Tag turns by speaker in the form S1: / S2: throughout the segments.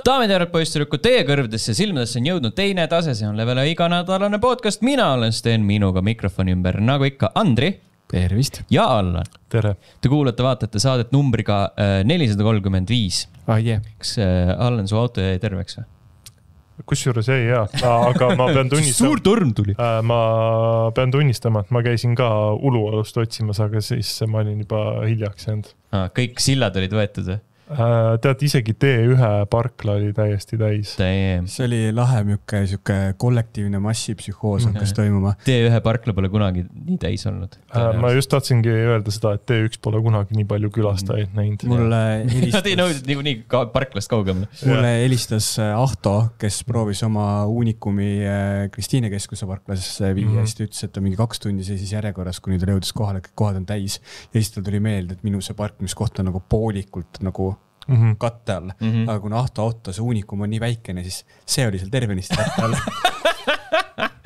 S1: Daamid ja poisssüdrukud, teie kõrvdesse silmadesse on jõudnud teine tase, see on Levele iganädalane podcast. Mina olen Sten, minuga mikrofoni ümber, nagu ikka, Andri.
S2: Tervist.
S1: Ja Allan.
S3: Tere.
S1: Te vaatate saadet numbriga 435. Kas Allan, su auto jäi terveks või?
S3: Kusjuures ei hea, aga ma pean tunnistama.
S1: Suur torm tuli.
S3: Ma pean tunnistama, et ma käisin ka Ulualust otsimas, aga siis ma olin juba hiljaks jäänud.
S1: Kõik sillad olid võetud või?
S3: Tead, isegi T1 parkla oli täiesti täis.
S2: See oli lahe mjuke kollektiivne massipsühhoos hakkas toimuma.
S1: T1 parkla pole kunagi nii täis olnud.
S3: Ma just tahtsingi öelda seda, et T1 pole kunagi nii palju külastajaid näinud.
S1: Nad ei nõudnud nii parklast kaugemale.
S2: Mulle helistas Ahto, kes proovis oma Unikumi Kristiine keskuse parklas viia. Siis ta ütles, et ta mingi 2 tundi seisis järjekorras, kuni ta jõudis kohale, kõik kohad on täis. Ja siis tal tuli meelde, et minu see parkimiskoht on nagu poolikult nagu katte all. Aga kuna auto see Unikum on nii väikene, siis see oli seal tervenisti katte all.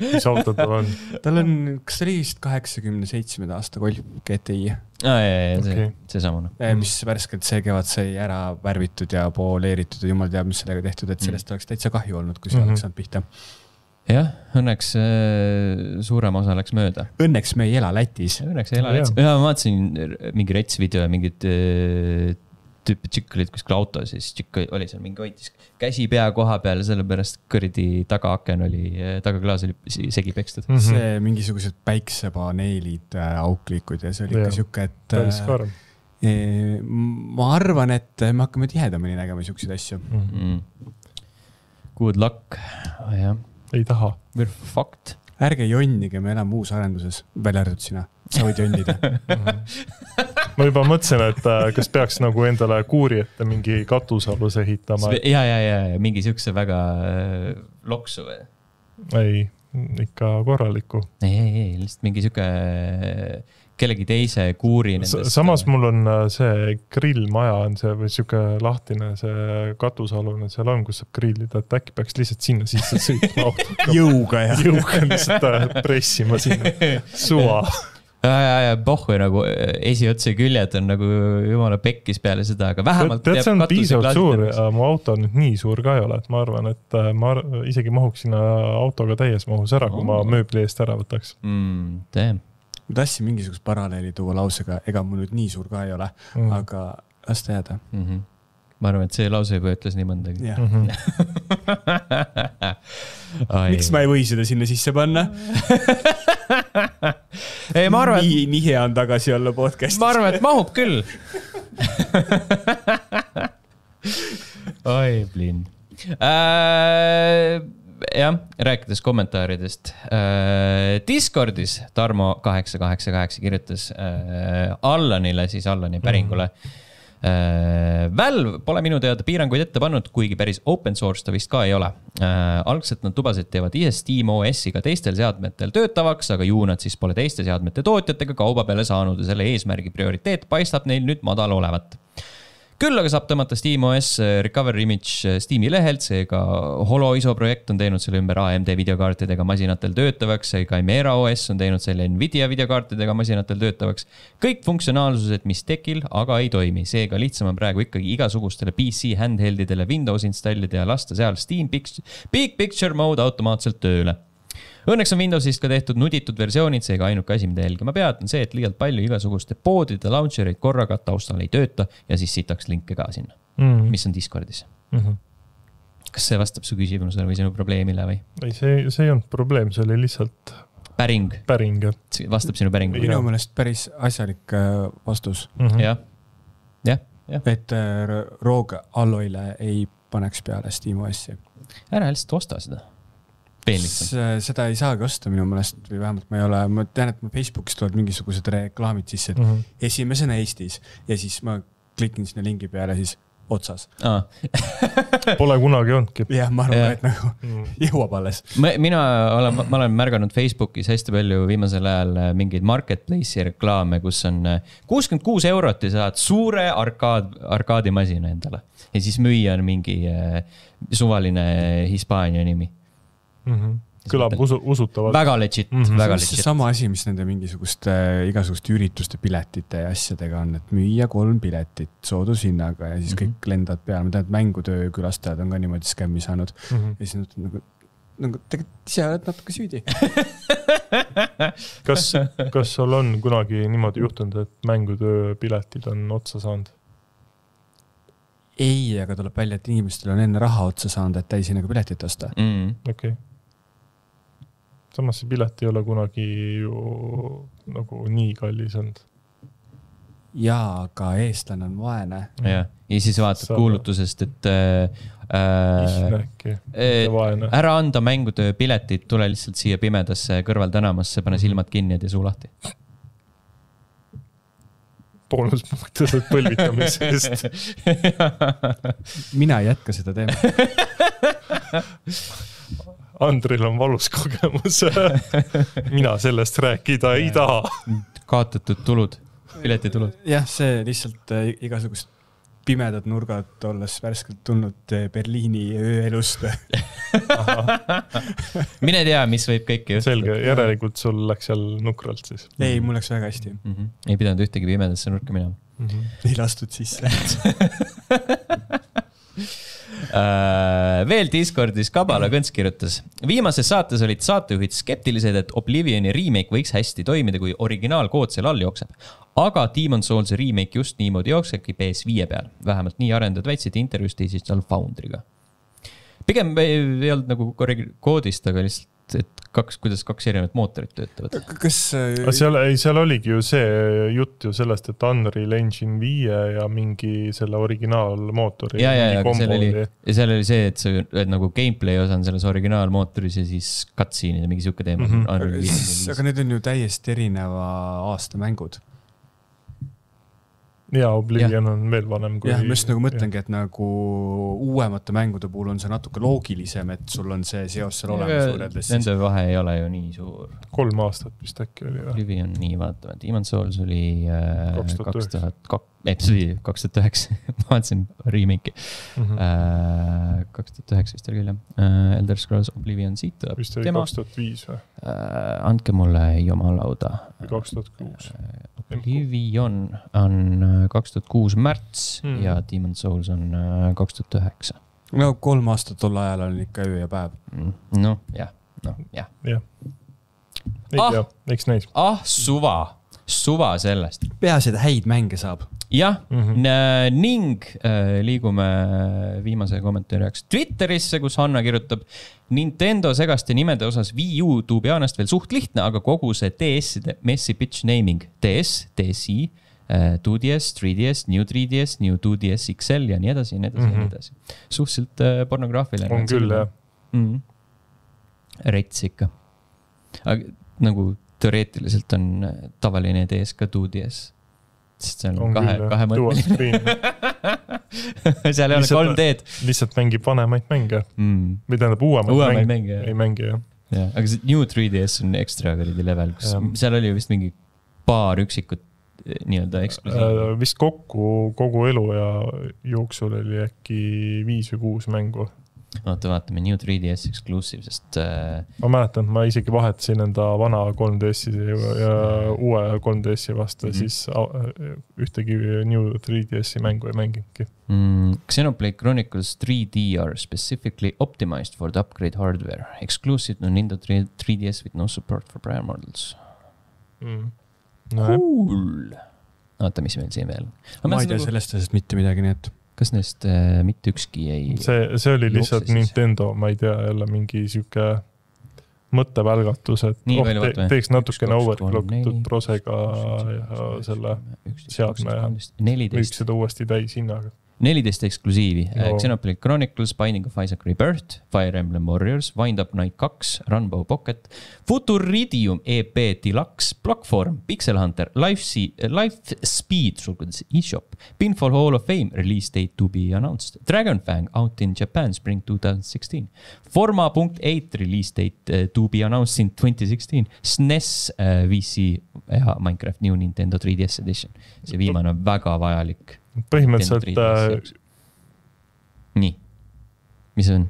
S3: Mis autod tal on?
S2: Tal on, kas ta oli vist 87 aasta Golf GTI?
S1: See samune.
S2: Mis värskelt see kevad sai ära värvitud ja pooleeritud ja jumal teab, mis sellega tehtud, et sellest oleks täitsa kahju olnud, kui see oleks saanud pihta.
S1: Jah, õnneks suurem osa läks mööda.
S2: Õnneks me ei ela Lätis.
S1: Õnneks ei ela Lätis. Ma vaatasin mingi rets video ja mingid tüüpi tšikk olid kuskil auto, siis tšikk oli seal mingi hoitis käsi pea koha peal ja sellepärast kõrdi tagaaken oli, tagaklaas oli segi pekstud.
S2: See mingisugused päiksepaneelid auklikud ja see oli ikka siuke, et ma arvan, et me hakkame tihedamini nägema siukseid asju.
S1: Good luck. Ja.
S3: Ei taha.
S1: Fakt.
S2: Ärge jonnige, me elame uus arenduses, välja arvatud sina. Sa võid jonnida.
S3: Ma juba mõtlesin, et kas peaks nagu endale kuuri ette mingi katusalus ehitama.
S1: Ja, mingi siukse väga loksu või?
S3: Ei, ikka korraliku.
S1: Ei, lihtsalt mingi siuke kellegi teise kuuri.
S3: Samas mul on see grillmaja on see või siuke lahtine see katusalune seal on, kus saab grillida, et äkki peaks lihtsalt sinna sisse sõitma autoga.
S2: Jõuga
S3: lihtsalt pressima sinna suva.
S1: Ja pohhu nagu esiotse küljed on nagu jumala pekkis peale seda, aga vähemalt
S3: tead, see on piisavalt suur ja mu auto nüüd nii suur ka ei ole, et ma arvan, et ma isegi mahuks sinna autoga täies mahus ära, kui ma mööbli eest ära võtaks.
S2: Ma tahtsin mingisugust paralleeli tuua lausega, ega mul nüüd nii suur ka ei ole, aga las ta jääda.
S1: Ma arvan, et see lause juba ütles nii mõndagi.
S2: Miks ma ei või seda sinna sisse panna?
S1: Ei, ma arvan,
S2: nii hea on tagasi olla podcastis.
S1: Ma arvan, et mahub küll. Oi, blin. Jah, rääkides kommentaaridest. Discordis Tarmo 888 kirjutas Allanile, siis Allani päringule. Valve pole minu teada piiranguid ette pannud, kuigi päris open source ta vist ka ei ole. Algselt nad tubasid teevad ise Steam OS-iga teistel seadmetel töötavaks, aga ju nad siis pole teiste seadmete tootjatega kauba peale saanud ja selle eesmärgi prioriteet paistab neil nüüd madal olevat. Küll aga saab tõmmata Steam OS Recover Image Steam'i lehelt, seega HoloISO projekt on teinud selle ümber AMD videokaartidega masinatel töötavaks, seega Chimera OS on teinud selle Nvidia videokaartidega masinatel töötavaks. Kõik funktsionaalsused, mis tekil, aga ei toimi. Seega lihtsam on praegu ikkagi igasugustele PC handheldidele Windows installida ja lasta seal Steam Big Picture Mode automaatselt tööle. Õnneks on Windowsist ka tehtud nuditud versioonid, seega ainuke asi, mida jälgima pead, on see, et liialt palju igasuguste poodide launchereid korraga taustal ei tööta ja siis sitaks linke ka sinna, mis on Discordis. Kas see vastab su küsimusele või sinu probleemile või?
S3: Ei, see ei olnud probleem, see oli lihtsalt päring.
S1: Vastab sinu päringu.
S2: Minu meelest päris asjalik vastus.
S1: Jah.
S2: Et Rogue Alloyle ei paneks peale Steam OS-i.
S1: Ära lihtsalt osta seda.
S2: Seda ei saagi osta minu meelest või vähemalt ma tean, et Facebookis tulevad mingisugused reklaamid sisse, et esimesena Eestis ja siis ma klikin sinna lingi peale siis otsas.
S3: Pole kunagi olnudki.
S2: Jah, ma arvan, et nagu jõuab alles.
S1: Ma olen märganud Facebookis hästi palju viimasel ajal mingeid marketplace'i reklaame, kus on 66 € ja saad suure arkaadimasina endale. Ja siis müüa on mingi suvaline Hispaania nimi.
S3: kõlab usutavalt.
S1: Väga legit, väga legit.
S2: Sama asi, mis nende mingisuguste igasuguste ürituste piletite ja asjadega on, et müüa 3 piletit soodushinnaga ja siis kõik lendavad peale. Ma tean, et mängutöö külastajad on ka niimoodi skämmi saanud. Ja siis nagu tegelikult ise oled natuke süüdi.
S3: Kas sul on kunagi niimoodi juhtunud, et mängutöö piletid on otsa saanud?
S2: Ei, aga tuleb välja, et inimestel on enne raha otsa saanud, et täisinaga piletit osta.
S3: Okei. Samas see pilet ei ole kunagi ju nagu nii kallis olnud.
S2: Jaa, aga eestlane on vaene.
S1: Ja siis vaatad kuulutusest, et ära anda mängutöö piletid, tule lihtsalt siia pimedasse kõrval tänamasse, pane silmad kinni ja suu lahti.
S3: Boonuspunktised põlvitamise eest.
S2: Mina ei jätka seda teema.
S3: Andril on valus kogemus. Mina sellest rääkida ei taha.
S1: Kaotatud tulud, piletitulud.
S2: Jah, see lihtsalt igasugust pimedad nurgad olles värskelt tulnud Berliini ööelust.
S1: Mine tea, mis võib kõike juhtuda.
S3: Selge, järelikult sul läks seal nukralt siis.
S2: Ei, mul läks väga hästi.
S1: Ei pidanud ühtegi pimedasse nurka minema.
S2: Ei lastud sisse.
S1: Veel Discordis Kabala Kõnts kirjutas. Viimases saates olid saatejuhid skeptilised, et Oblivioni remake võiks hästi toimida, kui originaalkood seal all jookseb. Aga Demon's Souls remake just niimoodi jooksebki PS5 peal. Vähemalt nii arendajad väitsid intervjuust Digital Foundry'ga. Pigem ei olnud nagu koodist, aga lihtsalt, et kuidas 2 erinevat mootorit töötavad.
S3: Seal oligi ju see jutt ju sellest, et Unreal Engine 5 ja mingi selle originaalmootori.
S1: Ja seal oli see, et see nagu gameplay osa on selles originaalmootoris ja siis cutscene'id ja mingi siuke teema.
S2: Aga need on ju täiesti erineva aasta mängud.
S3: Ja Oblivion on veel vanem kui...
S2: Jah, ma just nagu mõtlengi, et nagu uuemate mängude puhul on see natuke loogilisem, et sul on see seos seal olemas võrreldes.
S1: Nende vahe ei ole ju nii suur.
S3: 3 aastat vist äkki oli.
S1: Oblivion nii vaatama. Demon's Souls oli 2009. Ma vaatasin remake'i. 2009 vist oli küll. Elder Scrolls Oblivion siit tuleb.
S3: Vist oli 2005 või?
S1: Andke mulle jomalauda.
S3: 2006.
S1: Oblivion on 2006 märts ja Demon's Souls on 2009.
S2: No 3 aastat tol ajal on ikka öö ja päev.
S1: No, jah.
S3: Ei tea, eks näis.
S1: Suva sellest.
S2: Peaasi, et häid mänge saab.
S1: Jah, ning liigume viimase kommentaariaks Twitterisse, kus Hanna kirjutab Nintendo segaste nimede osas Wii U tuubianast veel suht lihtne, aga kogu see DS-ide messy bitch naming. DS, DSi, 2DS, 3DS, New 3DS, New 2DS XL ja nii edasi, ja nii edasi, ja nii edasi. Suhteliselt pornograafiline.
S3: On küll, jah.
S1: Rets ikka. Aga nagu teoreetiliselt on tavaline DS ka 2DS. Sest seal on kahe mõtteline. Seal ei ole 3D-d.
S3: Lihtsalt mängib vanemaid mänge. Või tähendab uuemaid mänge. Ei mängi, jah.
S1: Aga see New 3DS on ekstra level, kus seal oli vist mingi paar üksikut nii-öelda eksklusiiv.
S3: Vist kogu elu ja jooksul oli äkki 5 või 6 mängu.
S1: Vaatame New 3DS exclusive, sest...
S3: Ma mäletan, et ma isegi vahetasin enda vana 3DS-i ja uue 3DS-i vastu, siis ühtegi New 3DS-i mängu ei mänginudki.
S1: Xenoblade Chronicles 3D are specifically optimized for the upgrade hardware. Exclusive to Nintendo 3DS with no support for prior models. Cool! Vaata, mis meil siin veel.
S2: Ma ei tea sellest asjast mitte midagi, nii et...
S1: Kas neist mitte ükski ei...
S3: See oli lihtsalt Nintendo, ma ei tea, jälle mingi siuke mõttevälgatus, et teeks natukene overclockitud prosega ja selle seadme ja võiks seda uuesti täis hinnaga.
S1: 14 eksklusiivi. Xenoblade Chronicles, Binding of Isaac Rebirth, Fire Emblem Warriors, Wind Up Night 2, Runbow Pocket, Futuridium EP Deluxe, Blockform, Pixel Hunter, Life Speed, eShop, Pinfall Hall of Fame, release date to be announced, Dragonfang, out in Japan, spring 2016, Forma.8, release date to be announced in 2016, SNES, VC ja Minecraft New Nintendo 3DS Edition. See viimane on väga vajalik.
S3: Põhimõtteliselt
S1: nii, mis on?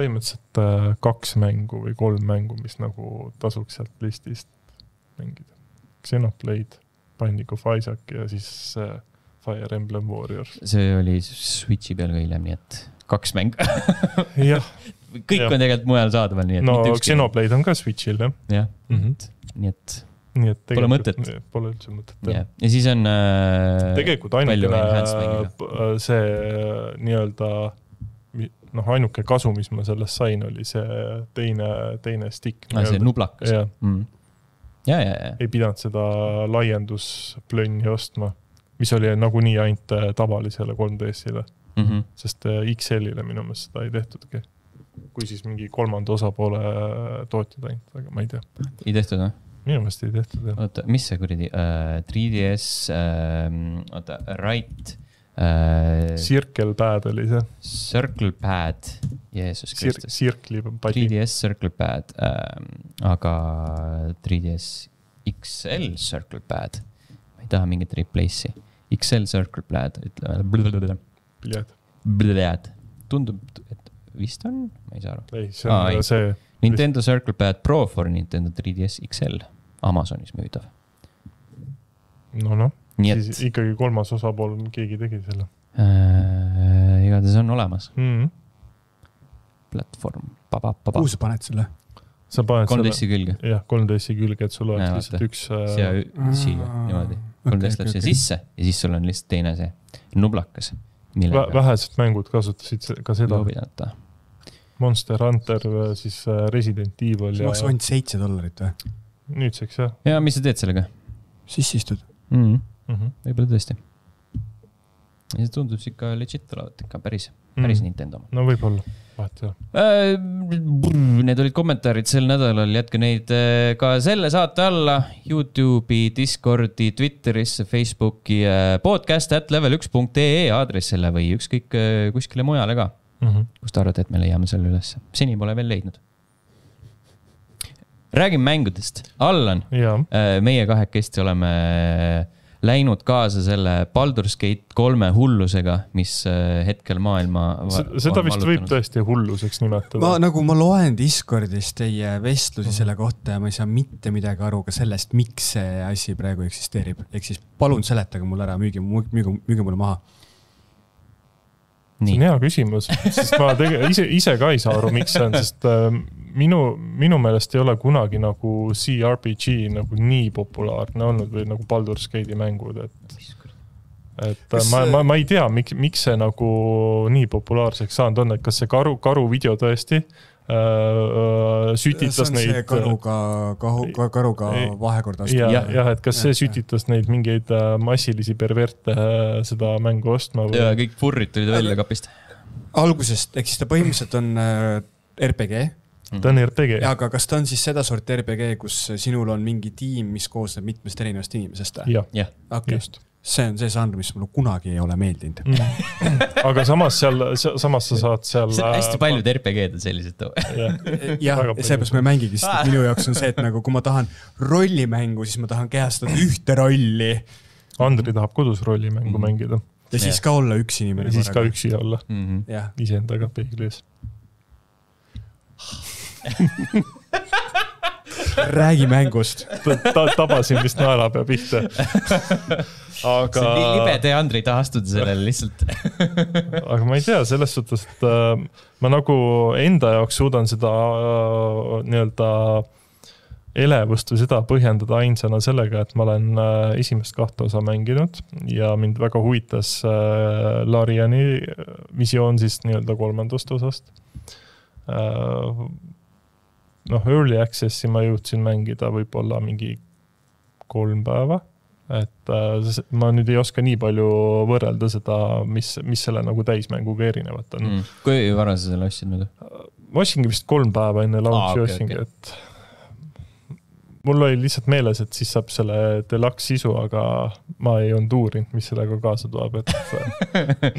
S3: põhimõtteliselt 2 mängu või 3 mängu, mis nagu tasuks sealt listist mängida. Xenoblade, Binding of Isaac ja siis Fire Emblem Warriors.
S1: See oli Switchi peal ka hiljem, nii et 2 mäng.
S3: Jah.
S1: Kõik on tegelikult mujal saadaval, nii et
S3: no Xenoblade on ka Switchil, jah.
S1: Jah, nii et pole mõtet.
S3: Pole üldse mõtet.
S1: Ja siis on
S3: tegelikult ainukene see nii-öelda ainuke kasu, mis ma sellest sain, oli see teine stick.
S1: See nublakas. Ja.
S3: Ei pidanud seda laiendusplönni ostma, mis oli nagunii ainult tavalisele 3DS-ile. Sest XL-ile minu meelest seda ei tehtudki. Kui siis mingi 3. osapoole tootjad ainult, aga ma ei tea.
S1: Ei tehtud, või?
S3: Minu meelest ei tehtud, jah.
S1: Oota, mis see kuradi? 3DS, Right.
S3: Circle Pad oli see.
S1: Circle Pad. Jeesus Kristus.
S3: 3DS
S1: Circle Pad. Aga 3DS XL Circle Pad. Ma ei taha mingit replace'i. XL Circle Pad. Bled. Tundub, et vist on? Ma ei saa aru.
S3: Ei, see on see...
S1: Nintendo Circle Pad Pro for Nintendo 3DS XL. Amazonis müüdav.
S3: No. Siis ikkagi 3. osapool keegi tegi selle.
S1: Igatahes on olemas. Platvorm.
S2: Kuhu sa paned selle?
S3: Sa paned
S1: 3DS-i külge.
S3: Jah, 3DS-i külge, et sul oleks lihtsalt üks...
S1: Siia, niimoodi. 3DS läheb siia sisse ja siis sul on lihtsalt teine see nublakas.
S3: Vähesed mängud kasutasid ka seda.
S1: Loobidata.
S3: Monster Hunter, siis Resident Evil
S2: see maksis ainult $7 või?
S3: Nüüdseks, jah.
S1: Ja mis sa teed sellega?
S2: Sissistud.
S1: Võib-olla tõesti. Ja see tundub ikka legit olevat, ikka päris Nintendo.
S3: No võib-olla, vahet ei
S1: ole. Need olid kommentaarid sel nädalal, jätke neid ka selle saate alla. YouTube'i, Discordi, Twitterisse, Facebooki, podcast@level1.ee aadressile või ükskõik kuskile mujale ka. Kus ta arvad, et me leiame selle üles? Seni pole veel leidnud. Räägime mängudest. Allan, meie kahekesti oleme läinud kaasa selle Baldur's Gate 3 hullusega, mis hetkel maailma
S3: seda vist võib tõesti hulluseks nimetada.
S2: Ma loen Discordis teie vestlusi selle kohta ja ma ei saa mitte midagi aru ka sellest, miks see asi praegu eksisteerib. Ehk siis palun seletage mulle ära, müüge mulle maha.
S3: See on hea küsimus, sest ma ise ka ei saa aru, miks see on, sest minu meelest ei ole kunagi nagu CRPG nagu nii populaarne olnud või nagu Baldur's Gate'i mängud, et ma ei tea, miks see nagu nii populaarseks saanud on, et kas see karu video tõesti sütitas neid...
S2: See on see karuga vahekorda astu.
S3: Jah, et kas see sütitas neid mingeid massilisi perverte seda mängu ostma?
S1: Ja kõik furrid tulid välja kapist.
S2: Algusest, ehk siis ta põhimõtteliselt on RPG.
S3: Ta on RPG.
S2: Aga kas ta on siis seda sort RPG, kus sinul on mingi tiim, mis koosneb mitmest erinevast inimesest?
S3: Jah,
S2: just. See on see žanr, mis mulle kunagi ei ole meeldinud.
S3: Aga samas sa saad seal...
S1: Hästi paljud RPG-d on sellised.
S2: Jah, seepärast ma ei mängigi, sest minu jaoks on see, et nagu kui ma tahan rollimängu, siis ma tahan kehastada ühte rolli.
S3: Andri tahab kodus rollimängu mängida.
S2: Ja siis ka olla üks inimene.
S3: Ja siis ka üksi olla. Iseendaga peeglis.
S2: Räägi mängust.
S3: Tabasin vist naelapea pihta.
S1: Aga... See on nii libede Andri taha astuda sellele lihtsalt.
S3: Aga ma ei tea, selles suhtes, et ma nagu enda jaoks suudan seda nii-öelda elevust või seda põhjendada ainsana sellega, et ma olen esimest 2 osa mänginud ja mind väga huvitas Lariani visioon siis nii-öelda 3. osast. Early Accessi ma jõudsin mängida võib-olla mingi 3 päeva, et ma nüüd ei oska nii palju võrrelda seda, mis selle nagu täismänguga erinevat on.
S1: Kui vara sa selle ostsid nüüd?
S3: Ma ostsingi vist 3 päeva enne launchi ostsingi, et mul oli lihtsalt meeles, et siis saab selle deluxe sisu, aga ma ei olnud uurinud, mis sellega kaasa tuleb. Et,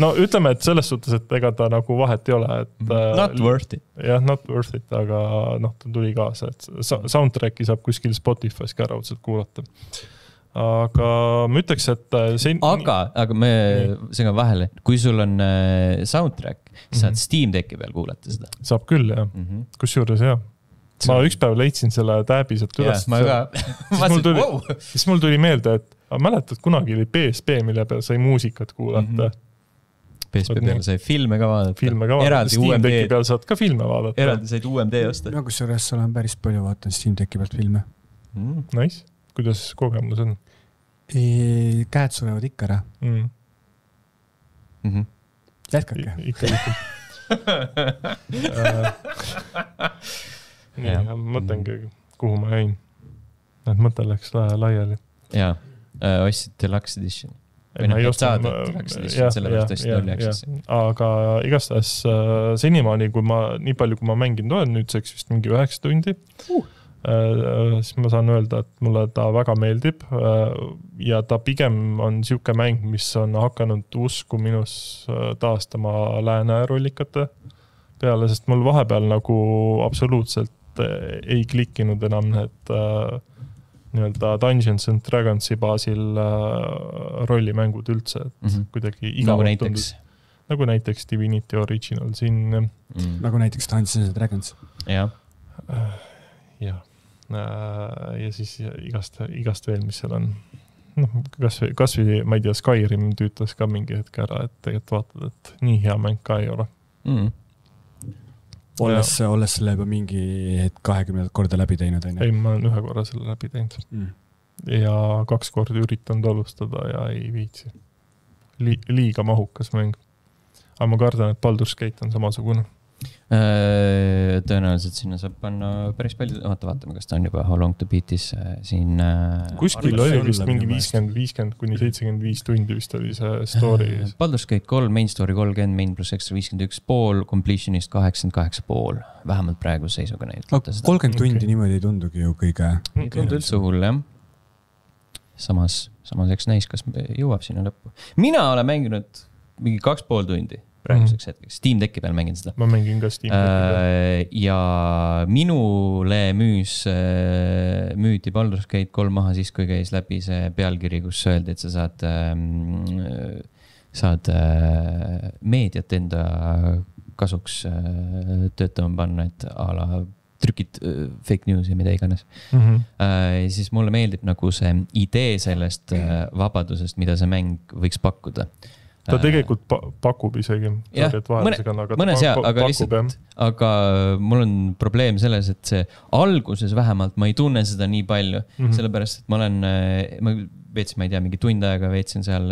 S3: no ütleme, et selles suhtes, et ega ta nagu vahet ei ole. Et,
S1: not worth it.
S3: Jah, not worth it, aga ta tuli kaasa. Et soundtracki saab kuskil Spotify's ka raudselt kuulata. aga ma ütleks, et see...
S1: Aga me segan vahele, kui sul on soundtrack, saad Steam Decki peal kuulata seda.
S3: Saab küll, jah. Kusjuures, jah. Ma üks päev leidsin selle tääbi sealt üles.
S1: Ma ka.
S3: Siis mul tuli meelde, et mäletad, kunagi oli PSP, mille peal sai muusikat kuulata.
S1: PSP peal sai filme ka vaadata.
S3: Eraldi Steam Decki peal saad ka filme vaadata.
S1: Eraldi said UMD osta.
S2: No kusjuures olen päris palju vaatan Steam Decki pealt filme.
S3: Nice. Kuidas kogemus on?
S2: Käed surevad ikka ära. Jätkake.
S3: Ikka. Mõtlengi, kuhu ma jäin. Need mõte läks laiali.
S1: Jaa, ostsid Deluxe Edition. Või ei saada Deluxe Edition, sellepärast ostsid Early Access'i.
S3: Aga igastahes senimaani, nii palju kui ma mänginud olen, nüüdseks vist mingi 9 tundi, siis ma saan öelda, et mulle ta väga meeldib ja ta pigem on siuke mäng, mis on hakanud usku minus taastama lääne rollikate peale, sest mul vahepeal nagu absoluutselt ei klikkinud enam need nii-öelda Dungeons and Dragonsi baasil rollimängud üldse, et kuidagi igavalt tundus. Nagu näiteks Divinity Original siin.
S2: Nagu näiteks Dungeons and Dragons.
S1: Jah.
S3: Jah. Ja siis igast veel, mis seal on. Kas või, ma ei tea, Skyrim tüütas ka mingi hetk ära, et tegelikult vaatad, et nii hea mäng ka ei ole.
S2: Olles selle juba mingi 20 korda läbi teinud.
S3: Ei, ma olen 1 korra selle läbi teinud. Ja 2 korda üritanud alustada ja ei viitsi. Liiga mahukas mäng. Aga ma kardan, et Baldur's Gate on samasugune.
S1: Tõenäoliselt sinna saab panna päris palju, vaatame, kas ta on juba How Long to Beatis siin
S3: kuskil oli vist mingi 50 kuni 75 tundi vist oli see story.
S1: Baldur's Gate 3, main story 30, main plus extra 51,5, completionist 88,5 vähemalt praegu seisuga neid
S2: 30 tundi niimoodi ei tundugi ju kõige
S1: üldse hull, jah. Samas eks näis, kas jõuab sinna lõppu. Mina olen mänginud mingi 2,5 tundi praeguseks hetkeks. Steam Decki peal mängin seda.
S3: Ma mängin ka Steam Decki peal.
S1: Ja minule müüdi Baldur's Gate 3 maha siis, kui käis läbi see pealkiri, kus öeldi, et sa saad meediat enda kasuks töötama panna, et a la trükid fake news ja mida iganes. Siis mulle meeldib nagu see idee sellest vabadusest, mida see mäng võiks pakkuda.
S3: Ta tegelikult pakub isegi.
S1: Aga mul on probleem selles, et see alguses vähemalt ma ei tunne seda nii palju, sellepärast, et ma veetsin, ma ei tea, mingi tund aega veetsin seal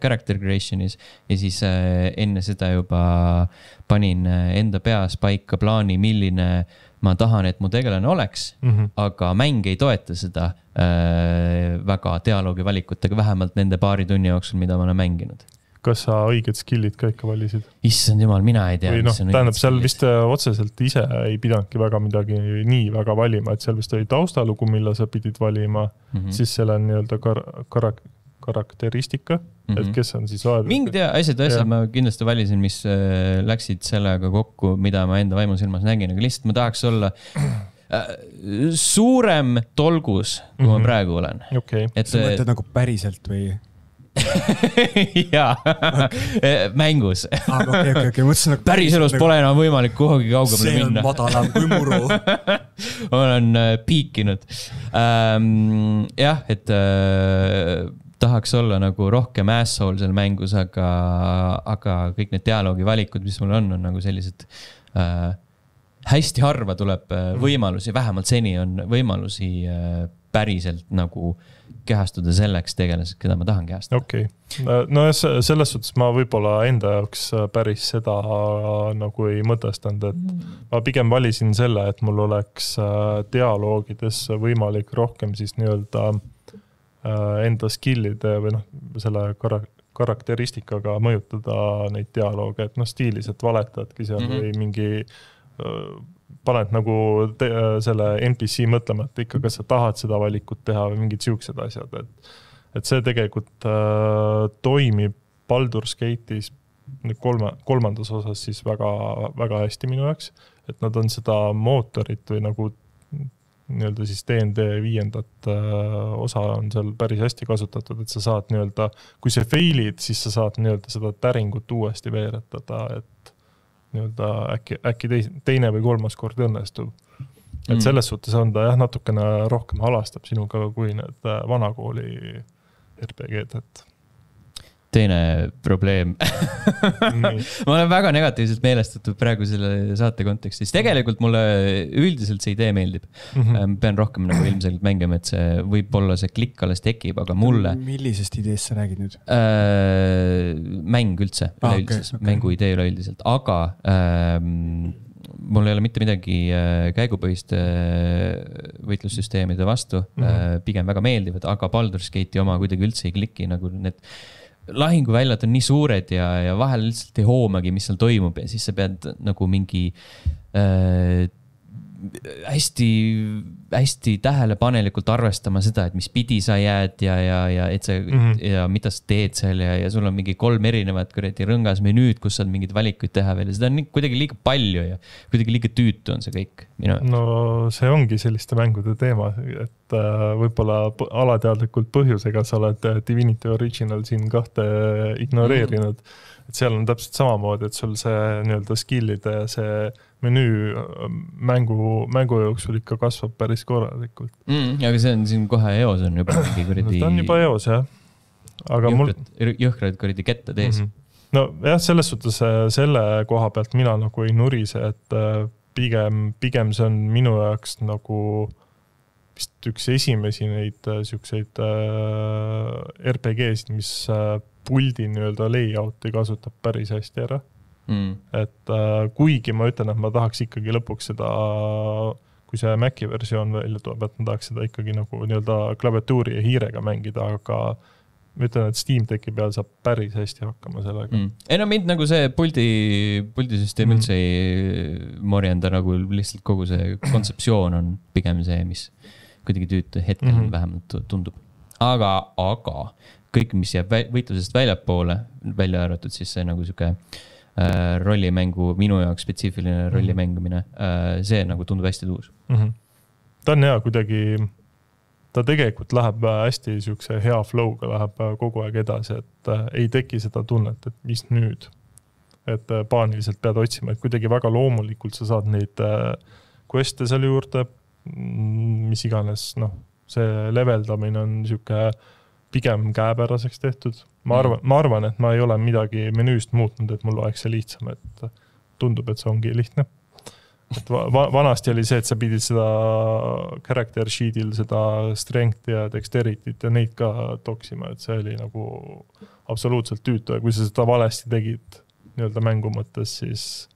S1: character creationis ja siis enne seda juba panin enda peas paika plaani, milline ma tahan, et mu tegelane oleks, aga mäng ei toeta seda väga dialoogi valikutega, vähemalt nende paari tunni jooksul, mida ma olen mänginud.
S3: Kas sa õiged skillid ka ikka valisid?
S1: Issand jumal, mina ei tea.
S3: Tähendab, seal vist otseselt ise ei pidanudki väga midagi nii väga valima, et seal vist oli taustalugu, mille sa pidid valima, siis seal on nii-öelda karakteristika, et kes on siis vaadata.
S1: Mingid asjad ma kindlasti valisin, mis läksid sellega kokku, mida ma enda vaimusilmas nägin, aga lihtsalt ma tahaks olla suurem tolgus, kui ma praegu olen.
S3: Okay.
S2: Sa mõtled nagu päriselt või?
S1: Jaa, mängus.
S2: Okay.
S1: Päris elus pole enam võimalik kuhugi kaugemale minna.
S2: See on madalam kui muru.
S1: Olen piikinud. Jah, et tahaks olla nagu rohkem asshole seal mängus, aga kõik need dialoogi valikud, mis mul on nagu sellised hästi harva tuleb võimalusi, vähemalt seni on võimalusi päriselt nagu kehastuda selleks tegelased, keda ma tahan kehastada.
S3: Okei. No selles suhtes ma võib-olla enda jaoks päris seda nagu ei mõtestanud, et ma pigem valisin selle, et mul oleks dialoogides võimalik rohkem siis nii-öelda enda skillide või selle karakteristikaga mõjutada neid dialooge, et stiilis, et valetadki seal või mingi paned nagu selle NPC mõtlema, et ikka kas sa tahad seda valikut teha või mingid siuksed asjad, et see tegelikult toimib Baldur's Gate'is kolmandas osas siis väga, väga hästi minu jaoks, et nad on seda mootorit või nagu nii-öelda siis DND 5. Osa on seal päris hästi kasutatud, et sa saad nii-öelda, kui see failid, siis sa saad nii-öelda seda täringut uuesti veeretada, et nii-öelda äkki teine või kolmas kord õnnestub. Et selles suhtes on ta jah, natukene rohkem halastab sinuga kui need vanakooli RPG-d, et
S1: teine probleem. Ma olen väga negatiivselt meelestatud praegu selle saate kontekstis. Tegelikult mulle üldiselt see idee meeldib. Pean rohkem nagu ilmselgelt mängima, et see võib-olla see klikk alles tekib, aga mulle...
S2: Millisest ideest sa räägid nüüd?
S1: Mäng üldse, üleüldiselt. Mängu idee üleüldiselt. Aga mul ei ole mitte midagi käigupõhiste võitlussüsteemide vastu. Pigem väga meeldivad, aga Baldur's Gate'i oma kuidagi üldse ei kliki nagu need lahinguväljad on nii suured ja vahel lihtsalt ei hoomagi, mis seal toimub ja siis sa pead nagu mingi hästi tähelepanelikult arvestama seda, et mis pidi sa jääd ja et sa, ja mida sa teed seal ja sul on mingi 3 erinevat rõngas menüüd, kus saad mingeid valikuid teha veel ja seda on kuidagi liiga palju ja kuidagi liiga tüütu on see kõik.
S3: No see ongi selliste mängude teema, et võib-olla alateadlikult põhjusega sa oled Divinity Original siin 2 ignoreerinud. Et seal on täpselt samamoodi, et sul see nii-öelda skillide ja see menüü mängu jooksul ikka kasvab päris korralikult.
S1: Aga see on siin kohe eos on juba mingi kuridi...
S3: Ta on juba eos, jah. Aga
S1: jõhkrad kuridi ketta tees.
S3: No jah, selles suhtes selle koha pealt mina nagu ei nurise, et pigem see on minu jaoks nagu vist üks esimesi neid siukseid RPG-sid, mis puldi nii-öelda layouti kasutab päris hästi ära. Et kuigi ma ütlen, et ma tahaks ikkagi lõpuks seda, kui see Maci versioon välja tuleb, et ma tahaks seda ikkagi nagu nii-öelda klaviatuuri ja hiirega mängida, aga ma ütlen, et Steam Decki peal saab päris hästi hakkama sellega.
S1: Ei no mind nagu see puldisüsteem üldse ei morjenda, nagu lihtsalt kogu see kontseptsioon on pigem see, mis kuidagi tüütu hetkel vähemalt tundub. Aga kõik, mis jääb võitlusest väljapoole, välja arvatud siis see nagu siuke rollimängu, minu jaoks spetsiifiline rollimängumine, see nagu tundub hästi tuus.
S3: Ta on hea kuidagi, ta tegelikult läheb hästi siukse hea flow'ga, läheb kogu aeg edasi, et ei teki seda tunnet, et mis nüüd, et paaniliselt pead otsima, et kuidagi väga loomulikult sa saad neid queste seal juurde, mis iganes, see leveldamine on siuke pigem käepäraseks tehtud. Ma arvan, et ma ei ole midagi menüüst muutnud, et mul oleks see lihtsam, et tundub, et see ongi lihtne. Et vanasti oli see, et sa pidid seda character sheet'il seda strength ja dexterity't ja neid ka toksima, et see oli nagu absoluutselt tüütu ja kui sa seda valesti tegid nii-öelda mängu mõttes, siis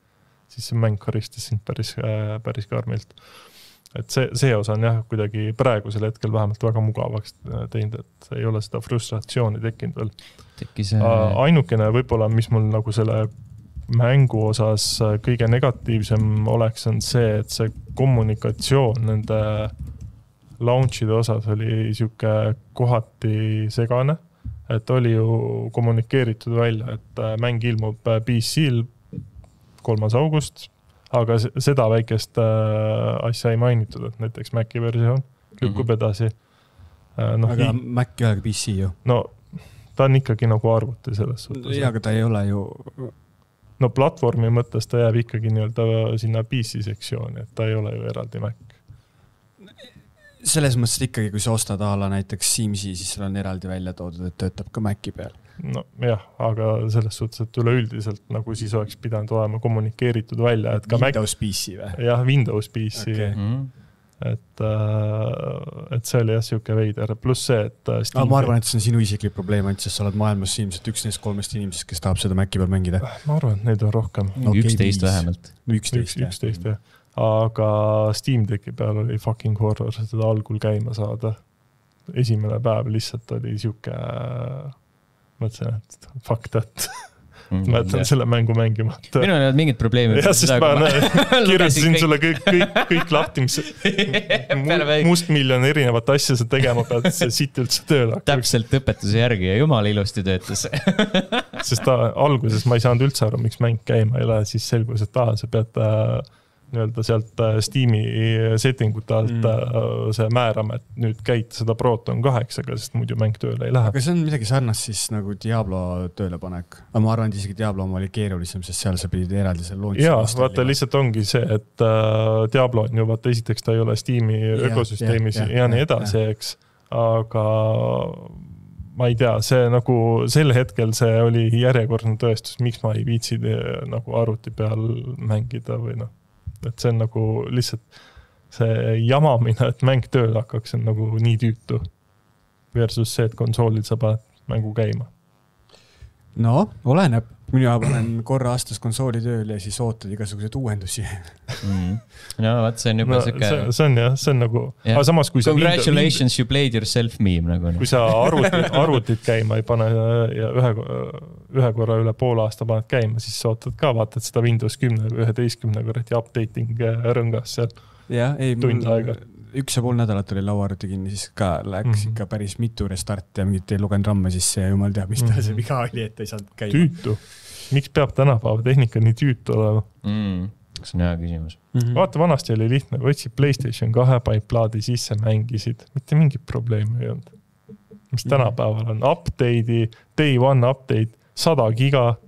S3: see mäng karistas sind päris karmilt. Et see osa on jah kuidagi praegusel hetkel vähemalt väga mugavaks teinud, et ei ole seda frustratsiooni tekkinud veel. Ainukene võib-olla, mis mul nagu selle mängu osas kõige negatiivsem oleks, on see, et see kommunikatsioon nende launchide osas oli siuke kohati segane, et oli ju kommunikeeritud välja, et mäng ilmub PC-l 3. august, aga seda väikest asja ei mainitud, et näiteks Maci versioon lükkub edasi.
S2: Aga Mac ei ole PC ju.
S3: No, ta on ikkagi nagu arvuti selles suhtes.
S2: Ja, aga ta ei ole ju...
S3: No, platvormi mõttes ta jääb ikkagi nii-öelda sinna PC-sektsiooni, et ta ei ole ju eraldi Mac.
S2: Selles mõttes ikkagi, kui sa ostad ala näiteks Simsi, siis seal on eraldi välja toodud, et töötab ka Maci peal.
S3: No jah, aga selles suhtes, et üleüldiselt nagu siis oleks pidanud olema kommunikeeritud välja, et ka
S2: Windows PC või?
S3: Jah, Windows PC. Okay. Et see oli jah siuke veider. Pluss see, et
S2: ma arvan, et see on sinu isiklik probleem, sest sa oled maailmas ilmselt üks neist 3 inimesest, kes tahab seda Maci peal mängida.
S3: Ma arvan, et neid on rohkem.
S1: 11 vähemalt.
S3: 11 jah. Aga Steam Decki peal oli fucking horror seda algul käima saada. Esimene päev lihtsalt oli siuke... mõtlesin, et fuck that. Ma jätan selle mängu mängima.
S1: Minu on mingid probleemid.
S3: Ja, sest ma kirjutasin sulle kõik lahti, mis mustmiljon erinevat asja sa tegema pead, see siit üldse tööl hakkaks.
S1: Täpselt õpetuse järgi ja jumala ilusti töötas.
S3: Sest alguses ma ei saanud üldse aru, miks mäng käima ei lähe, siis selgus, et sa pead nii-öelda sealt Steam'i settingute alt see määrama, et nüüd käid seda Proton 8-ga, sest muidu mäng tööle ei lähe.
S2: Aga see on midagi sarnast siis nagu Diablo töölepanek. Aga ma arvan, et isegi Diablo oma oli keerulisem, sest seal sa pidid eraldi selle launch.
S3: Jaa, vaata lihtsalt ongi see, et Diablo on ju, vaata esiteks ta ei ole Steam'i ökosüsteemis ja nii edasi, eks. Aga ma ei tea, see nagu sel hetkel see oli järjekordne tõestus, miks ma ei viitsi nagu arvuti peal mängida või noh. Et see on nagu lihtsalt see jamamine, et mäng tööl hakkaks on nagu nii tüütu versus see, et konsoolid sa paned mängu käima.
S2: No, oleneb. Mina panen korra aastas konsooli tööl ja siis ootad igasuguseid uuendusi.
S1: No, vaat see on juba
S3: see on nagu... Aga samas, kui
S1: Congratulations, you played yourself meme. Nagu.
S3: Kui sa arvutit käima ei pane ja ühe korra üle pool aasta paned käima, siis sa ootad ka, vaatad seda Windows 10 või 11 korrati updating rõngas seal tund aega.
S2: 1,5 nädalat oli lauaarvuti kinni, siis ka läks ikka päris mitu restart ja mingit ei lugenud ramme, siis see jumal teab, mis ta see viga oli, et ei saanud käima.
S3: Tüütu. Miks peab tänapäeva tehnika nii tüütu olema?
S1: See on hea küsimus.
S3: Vaata, vanasti oli lihtne, võtsid PlayStation 2 plaadi sisse, mängisid. Mitte mingit probleemi ei olnud. Mis tänapäeval on update'i, day one update, 100 giga.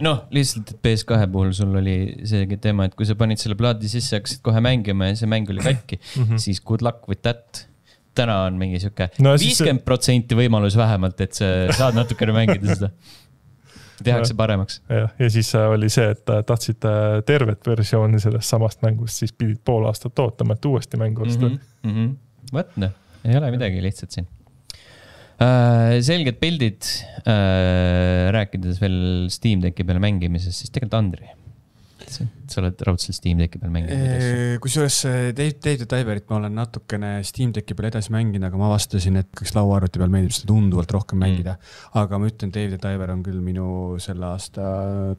S1: Noh, lihtsalt, et PS2 puhul sul oli see teema, et kui sa panid selle plaadi sisse, hakkasid kohe mängima ja see mäng oli katki, siis good luck with that. Täna on mingi siuke 50% võimalus vähemalt, et sa saad natukene mängida seda. Tehakse paremaks.
S3: Ja siis oli see, et tahtsid tervet versiooni sellest samast mängust, siis pidid pool aastat ootama, et uuesti mängu osta.
S1: Võtne, ei ole midagi lihtsalt siin. Selged pildid, rääkides veel Steam Decki peale mängimisest, siis tegelikult Andri. Sa oled raudselt Steam Decki peal mänginud.
S2: Kusjuures Dave the Diverit ma olen natukene Steam Decki peal edasi mänginud, aga ma vastasin, et kas lauaarvuti peal meeldib seda tunduvalt rohkem mängida. Aga ma ütlen, Dave the Diver on küll minu selle aasta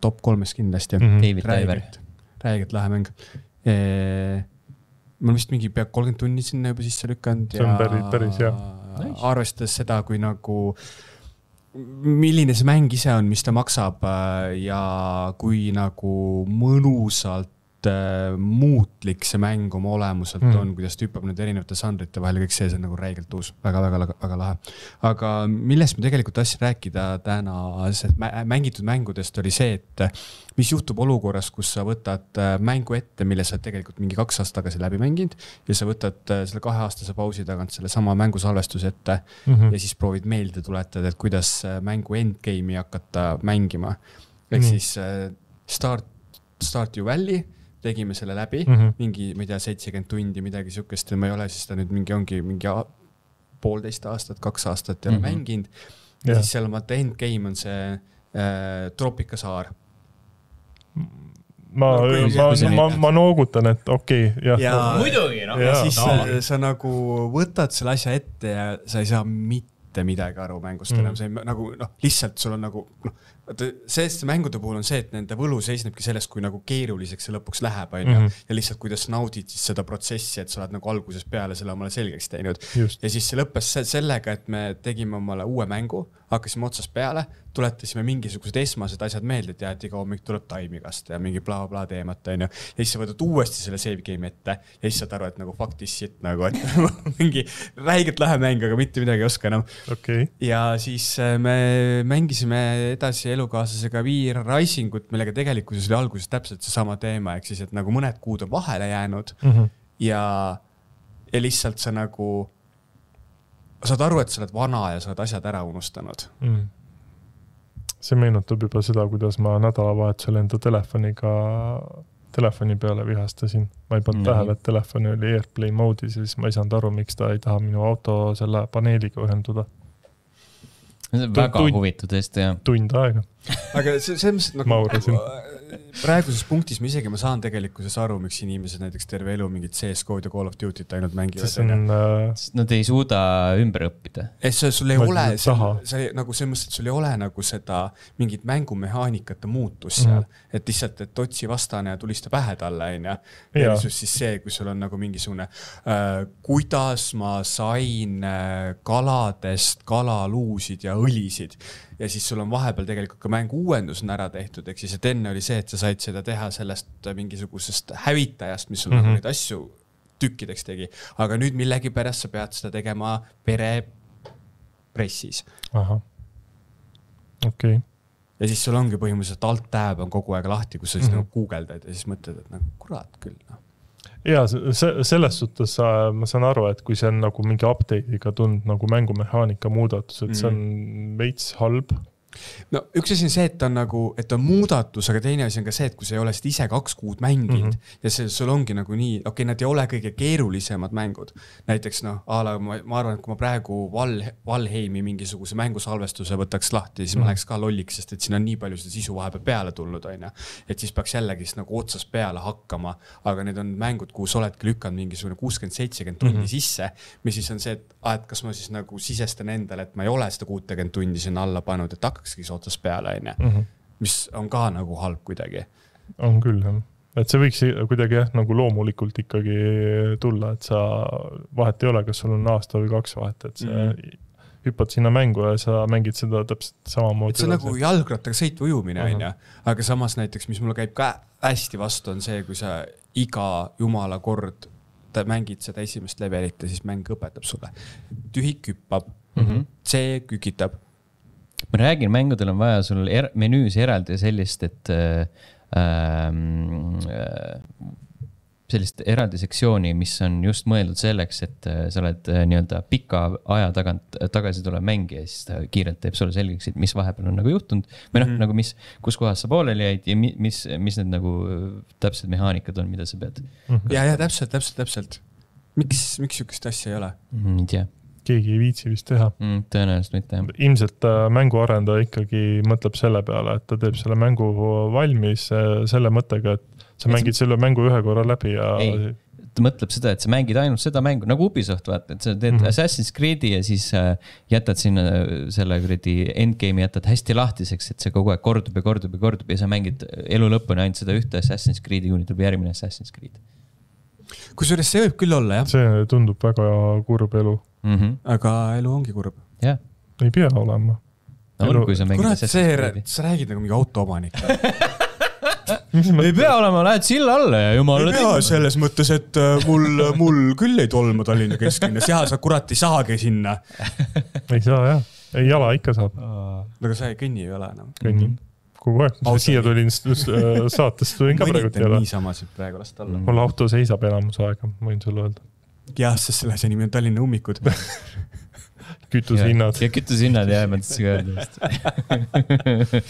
S2: top 3 kindlasti.
S1: David Diver.
S2: Räägelt lähe mäng. Ma vist mingi pea 30 tunni sinna juba sisse lükanud.
S3: See on päris hea.
S2: Arvestades seda, kui nagu milline see mäng ise on, mis ta maksab ja kui nagu mõnusalt muutlik see mäng oma olemuselt on, kuidas ta hüppab need erinevate žanrite vahel, kõik see on nagu räigelt uus, väga lahe. Aga millest ma tegelikult tahtsin rääkida täna mängitud mängudest oli see, et mis juhtub olukorras, kus sa võtad mängu ette, mille sa tegelikult mingi 2 aastat tagasi läbi mänginud ja sa võtad selle 2-aastase pausi tagant selle sama mängu salvestuse ette ja siis proovid meelde tuletada, et kuidas mängu endgame'i hakata mängima. Ehk siis Start You Valley tegime selle läbi, mingi, ma ei tea, 70 tundi, midagi sükest, ma ei ole siis ta nüüd mingi 1,5 aastat, 2 aastat ei ole mänginud. Ja siis seal endgame on see Troopikasaar.
S3: Ma noogutan, et okei.
S1: Muidugi,
S2: ja siis sa nagu võtad selle asja ette ja sa ei saa mitte midagi aru mängust enam. See nagu, lihtsalt sul on nagu, see mängude puhul on see, et nende võlu seisnebki sellest, kui nagu keeruliseks see lõpuks läheb, ja lihtsalt kuidas naudid siis seda protsessi, et sa oled nagu alguses peale selle omale selgeks teinud. Ja siis see lõppes sellega, et me tegime omale uue mängu, hakkasime otsast peale, tuletasime mingisugused esmased asjad meelde, et iga hommik tuleb taimikast ja mingi bla teemat, ja siis sa võtad uuesti selle save game ette ja siis saad aru, et nagu fuck this shit, nagu, et mingi räigelt lähe mäng, aga mitte midagi ei oska enam. Ja siis me mängisime edasi elukaaslasega VR Risingut, millega tegelikkuses oli alguses täpselt see sama teema, ehk siis, et nagu mõned kuud on vahele jäänud ja lihtsalt sa nagu saad aru, et sa oled vana ja sa oled asjad ära unustanud.
S3: See meenutab juba seda, kuidas ma nädalavahetusel enda telefoni peale vihastasin. Ma ei pannud tähele, et telefoni oli Airplay moodis ja siis ma ei saanud aru, miks ta ei taha minu auto selle paneeliga ühenduda.
S1: See on väga huvitu tõesti, jah.
S3: Tund aega.
S2: Aga see nagu praeguses punktis ma saan tegelikkuses aru, miks inimesed näiteks terve elu mingit CS-kood ja Call of Duty't ainult mängivad.
S1: Nad ei suuda ümber õppida.
S2: Sul ei ole, nagu see mõttes, et sul ei ole nagu seda mingit mängumehaanikate muutus seal, et lihtsalt, et otsi vastane ja tulista pähe talle, ja siis see, kui sul on nagu mingisugune kuidas ma sain kaladest kalaluusid ja õlisid ja siis sul on vahepeal tegelikult ka mängu uuendus on ära tehtud, ehk siis, et enne oli see, et sa said seda teha sellest mingisugusest hävitajast, mis sul nagu neid asju tükkideks tegi. Aga nüüd millegipärast sa pead seda tegema perepressis.
S3: Aha. Okei.
S2: Ja siis sul ongi põhimõtteliselt alt-tab on kogu aeg lahti, kus sa siis nagu googeldad ja siis mõtled, et nagu kurat küll.
S3: Ja selles suhtes ma saan aru, et kui see on nagu mingi update'iga tund nagu mängumehaanika muudatus, et see on veits halb.
S2: No üks asi on see, et on nagu, et on muudatus, aga teine asi on ka see, et kui sa ei ole seda ise 2 kuud mänginud ja sul ongi nagu nii, nad ei ole kõige keerulisemad mängud. Näiteks ma arvan, et kui ma praegu Valheimi mingisuguse mängusalvestuse võtaks lahti, siis ma läheks ka lolliks, sest et siin on nii palju seda sisu vahepeal peale tulnud, et siis peaks jällegi nagu otsas peale hakkama, aga need on mängud, kuhu sa oledki lükanud mingisugune 60-70 tundi sisse, mis siis on see, et kas ma siis nagu sisestan endale, et ma ei ole seda 60 tundi sinna alla pannud, et hakkakski otsas peale, mis on ka nagu halb kuidagi.
S3: On küll, jah. Et see võiks kuidagi nagu loomulikult ikkagi tulla, et sa vahet ei ole, kas sul on aasta või 2 vahet, et sa hüppad sinna mängu ja sa mängid seda täpselt samamoodi.
S2: Et see on nagu jalgrattaga sõitva ujumine, aga samas näiteks, mis mulle käib ka hästi vastu, on see, kui sa iga jumala kord mängid seda esimest levelit ja siis mäng õpetab sulle. Tühik hüppab, see kükitab.
S1: Ma räägin, mängudel on vaja sul menüüs eraldi sellist, et sellist eraldi sektsiooni, mis on just mõeldud selleks, et sa oled nii-öelda pika aja tagasi tuleb mängi ja siis ta kiirelt teeb sulle selgeks, et mis vahepeal on nagu juhtunud või nagu kus kohas sa pooleli jäid ja mis need nagu täpsed mehaanikad on, mida sa pead.
S2: Ja täpselt. Miks sükest asja ei ole?
S1: Ei tea.
S3: Keegi ei viitsi vist teha.
S1: Tõenäoliselt mitte.
S3: Ilmselt mänguarendaja ikkagi mõtleb selle peale, et ta teeb selle mängu valmis selle mõttega, et sa mängid selle mängu 1 korra läbi ja...
S1: Ei, ta mõtleb seda, et sa mängid ainult seda mängu, nagu Ubisoft vaata, et sa teed Assassin's Creed'i ja siis jätad sinna selle endgame'i jätad hästi lahtiseks, et see kogu aeg kordub ja sa mängid elu lõpuni ainult seda ühte Assassin's Creed'i, kuni tuleb järgmine Assassin's Creed.
S2: Kusjuures see võib küll olla, jah.
S3: See tundub väga kurb elu.
S2: Aga elu ongi kurb.
S1: Jah.
S3: Ei pea olema.
S1: Kui sa mängid
S2: Kurat, sa räägid nagu mingi autoomanik.
S1: Ei pea olema, lähed silla alla ja jumala...
S2: Ei pea selles mõttes, et mul küll ei tolma Tallinna kesklinnas. Ja sa kurat ei saagi sinna.
S3: Ei saa, jah. Ei jala ikka saab.
S2: Aga sa ei kõnni ei ole enam.
S3: Kõnni. Kogu aeg. Siia tulin saatest, tulin ka praegu
S2: teile. Nii samasid praegu last alla.
S3: Mul auto seisab enamus aega, võin sulle öelda.
S2: Jah, sest selle see nimi on Tallinna ummikud.
S3: Kütusehinnad.
S1: Ja kütusehinnad, jah, mõtlesin ka öelda.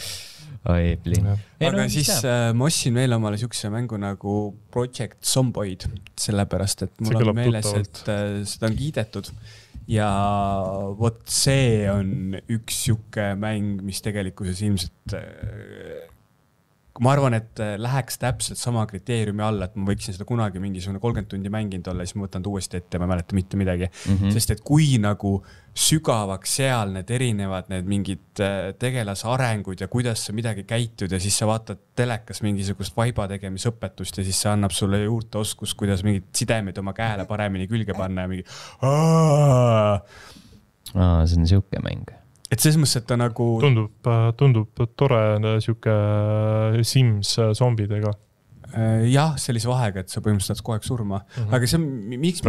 S1: Oi, plin.
S2: Aga siis ma ostsin veel omale sükse mängu nagu Project Zomboid, sellepärast, et mul on meeles, et seda on kiidetud. Ja vot see on üks süke mäng, mis tegelikkuses ilmselt, ma arvan, et läheks täpselt sama kriteeriumi alla, et ma võiksin seda kunagi mingisugune 30 tundi mänginud olla, siis ma võtan uuesti ette ja ma mäleta mitte midagi. Sest et kui nagu sügavaks seal need erinevad need mingid tegelase arengud ja kuidas sa midagi käitud ja siis sa vaatad telekas mingisugust vaiba tegemisõpetust ja siis see annab sulle juurde oskus, kuidas mingid sidemed oma käele paremini külge panna ja mingi
S1: see on siuke mäng.
S2: Et selles mõttes, et ta nagu...
S3: Tundub tore siuke Sims zombidega.
S2: Jah, sellise vahega, et sa põhimõtteliselt kogu aeg surma. Aga see, miks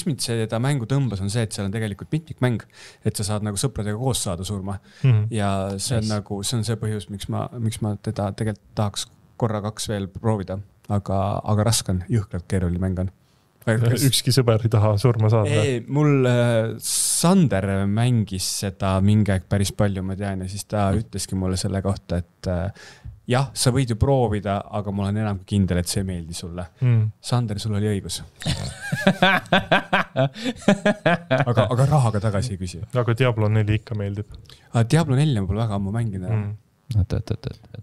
S2: mind seda mängu tõmbas, on see, et seal on tegelikult mitmikmäng, et sa saad nagu sõpradega koos saada surma. Ja see on nagu, see on see põhjus, miks ma teda tegelikult tahaks korra 2 veel proovida. Aga raske on, jõhkralt keeruline mäng on.
S3: Ükski sõber ei taha surma saada.
S2: Mul Sander mängis seda mingi aeg päris palju, ma tean, ja siis ta ütleski mulle selle kohta, et jah, sa võid ju proovida, aga mul on enam kindel, et see ei meeldi sulle. Sander, sul oli õigus. aga rahaga tagasi ei küsi.
S3: Aga Diablo 4 ikka meeldib.
S2: Diablo 4 on pole väga ammu mängida.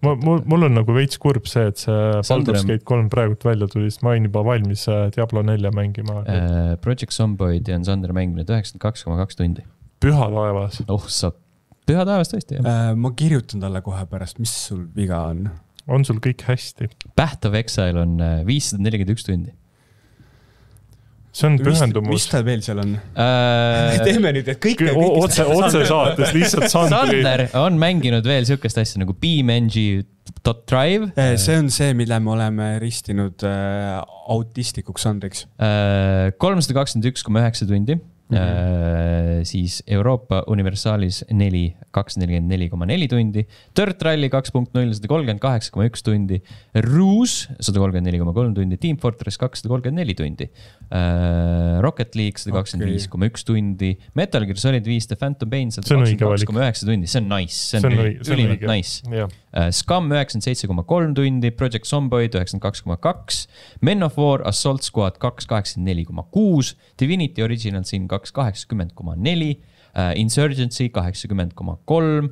S3: Mul on nagu veits kurb see, et see Baldur's Gate 3 praegult välja tuli, sest ma olin juba valmis Diablo 4 mängima.
S1: Project Zomboid on Sander mängimine 92,2 tundi.
S3: Püha taevas.
S1: Püha taevas tõesti, jah.
S2: Ma kirjutan talle kohe pärast, mis sul viga on?
S3: On sul kõik hästi?
S1: Path of Exile on 541 tundi.
S3: See on pühendumus.
S2: Mis ta veel seal on? Teeme nüüd, et kõik
S3: otse saates lihtsalt Sandri.
S1: Sander on mänginud veel sükest asja nagu BeamNG, .drive.
S2: See on see, mille me oleme ristinud autistlikuks Andriks.
S1: 321,9 tundi. Siis Euroopa Universaalis 244,4 tundi, Dirt Rally 2.0 138,1 tundi, Rouge 134,3 tundi, Team Fortress 234 tundi, Rocket League 125,1 tundi, Metal Gear Solid 5 The Phantom Pain 122,9 tundi, see on nice, see on ülimalt nice. Scum 97,3 tundi, Project Zomboid 92,2, Men of War Assault Squad 284,6, Divinity Original Sin 280,4, Insurgency 80,3,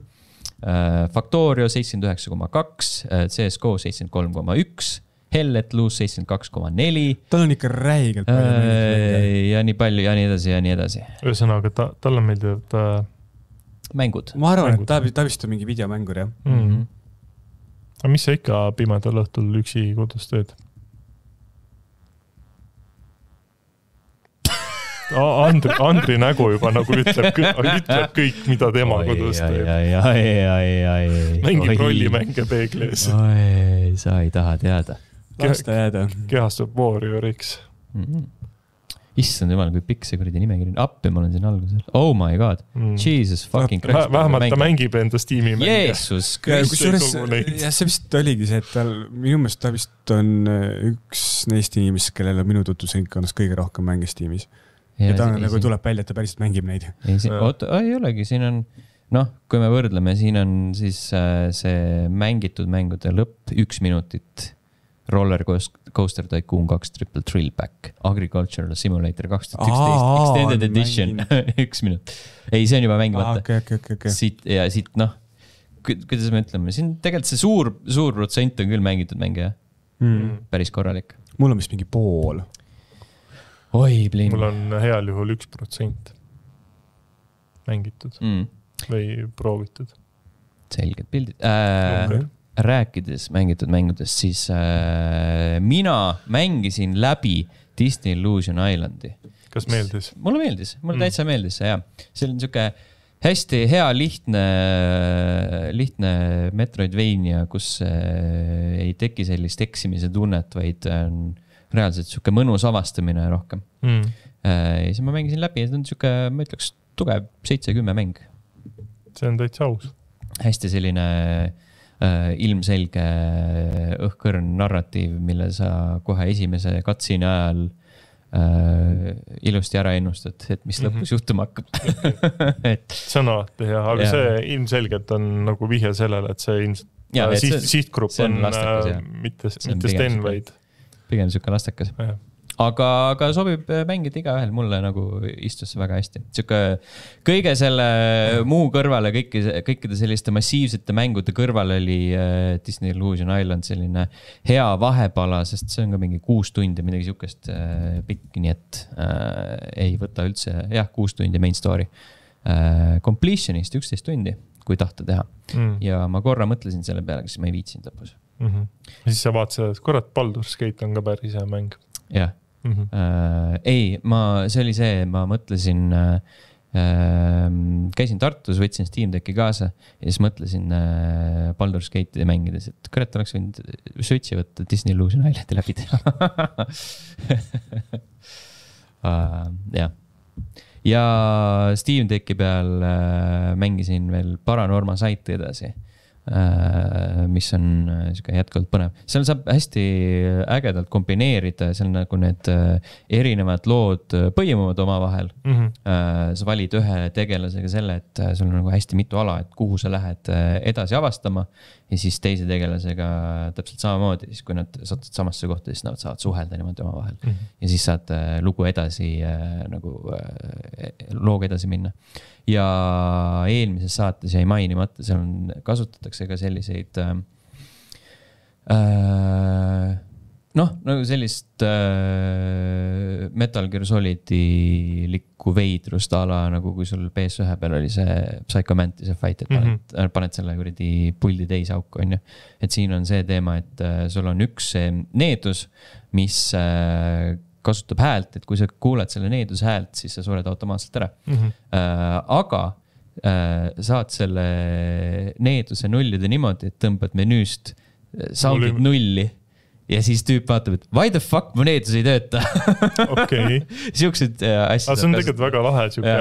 S1: Factorio 79,2, CSGO 73,1, Hell Let Loose 72,4.
S2: Tal on ikka räigelt palju.
S1: Ja nii palju ja nii edasi ja nii edasi.
S3: Ühesõnaga, tal on meeldivad
S1: mängud.
S2: Ma arvan, et ta vist on mingi videomängur, jah.
S3: Aga mis sa ikka pimedal õhtul üksi kodus teed? Andri nägu juba nagu ütleb kõik, mida tema kodus teeb. Mängib rollimänge peeglis.
S1: Sa ei taha teada.
S3: Kehastub Warrioriks.
S1: Issand jumal, kui pikk see kuradi nimekiri. Appi ma olen siin algusel. Oh my god. Jesus fucking Christ.
S3: Vähemalt ta mängib enda Steam'i mänge.
S1: Jeesus Kristus.
S2: Ja see vist oligi see, et minu meelest ta vist on üks neist inimest, kellel on minu tutvusringkonnas kõige rohkem mänge Steam'is. Ja ta nagu tuleb välja, et ta päriselt mängib neid.
S1: Ei olegi, siin on, kui me võrdleme, siin on siis see mängitud mängude lõpp 1 minutit, Roller Coaster Tycoon 2 Triple Thrill Pack, Agricultural Simulator 2011, Extended Edition 1 minut. Ei, see on juba mängimata. Siit, kuidas me ütleme, siin tegelikult see suur protsent on küll mängitud mänge, päris korralik.
S2: Mul on vist mingi pool.
S1: Oi, blin.
S3: Mul on heal juhul 1% mängitud või proovitud.
S1: Selged pildid. Rääkides mängitud mängudest, siis mina mängisin läbi Disney Illusion Islandi.
S3: Kas meeldis?
S1: Mulle meeldis, mulle täitsa meeldis see, jah. See on niisugune hästi hea, lihtne Metroidvania, kus ei teki sellist eksimise tunnet, vaid reaalselt niisugune mõnus avastamine rohkem. Ja siis ma mängisin läbi ja see on niisugune, ma ütleks, tugev 7-10 mäng.
S3: See on täitsa aus.
S1: Hästi selline ilmselge õhkõrn narratiiv, mille sa kohe esimese katsiini ajal ilusti ära ennustad, et mis lõpus juhtuma hakkab.
S3: See on alati hea, aga see ilmselgelt on nagu vihje sellele, et see ilmselt sihtgrupp on mitte Sten, vaid
S1: pigem niisugune lastekas. Aga sobib mängida igaühel, mulle nagu istus väga hästi. Kõige selle muu kõrvale, kõikide selliste massiivsete mängude kõrval oli Disney Illusion Island selline hea vahepala, sest see on ka mingi 6 tundi, midagi niisugust pikk, nii et ei võta üldse, 6 tundi main story. Completionist 11 tundi, kui tahta teha. Ja ma korra mõtlesin selle peale, siis ma ei viitsinud lõpus.
S3: Siis sa vaatasid, et kurat, Baldur's Gate on ka päris hea mäng.
S1: Jah. Ei, see oli see, ma mõtlesin, käisin Tartus, võtsin Steam Decki kaasa ja siis mõtlesin Baldur's Gate'i mängides, et kurat, oleks võinud Switchi võtta Disney Illusion Islandi läbi teha. Ja Steam Decki peal mängisin veel Paranorma Site'i edasi, mis on jätkuvalt põnev. Seal saab hästi ägedalt kombineerida, seal nagu need erinevad lood põimuvad oma vahel. Sa valid ühe tegelasega selle, et sul on nagu hästi mitu ala, et kuhu sa lähed edasi avastama ja siis teise tegelasega täpselt samamoodi, siis kui nad satud samasse kohta, siis nad saavad suhelda niimoodi oma vahel. Ja siis saad lugu edasi, nagu looga edasi minna. Ja eelmises saates jäi mainimata, seal kasutatakse ka selliseid nagu sellist Metal Gear Solidi likku veidrust ala, nagu kui sul PS1 peal oli see Psycho Mantise fight, et paned selle kuradi puldi teise auku, on ju. Et siin on see teema, et sul on üks needus, mis kasutab häält, et kui sa kuuled selle needuse häält, siis sa sured automaatselt ära. Aga saad selle needuse nullida niimoodi, et tõmbad menüüst sound'id nulli. Ja siis tüüp vaatab, et why the fuck mu needus ei tööta.
S3: Okei.
S1: Siuksed asjad.
S3: See on tegelikult väga lahe, siuke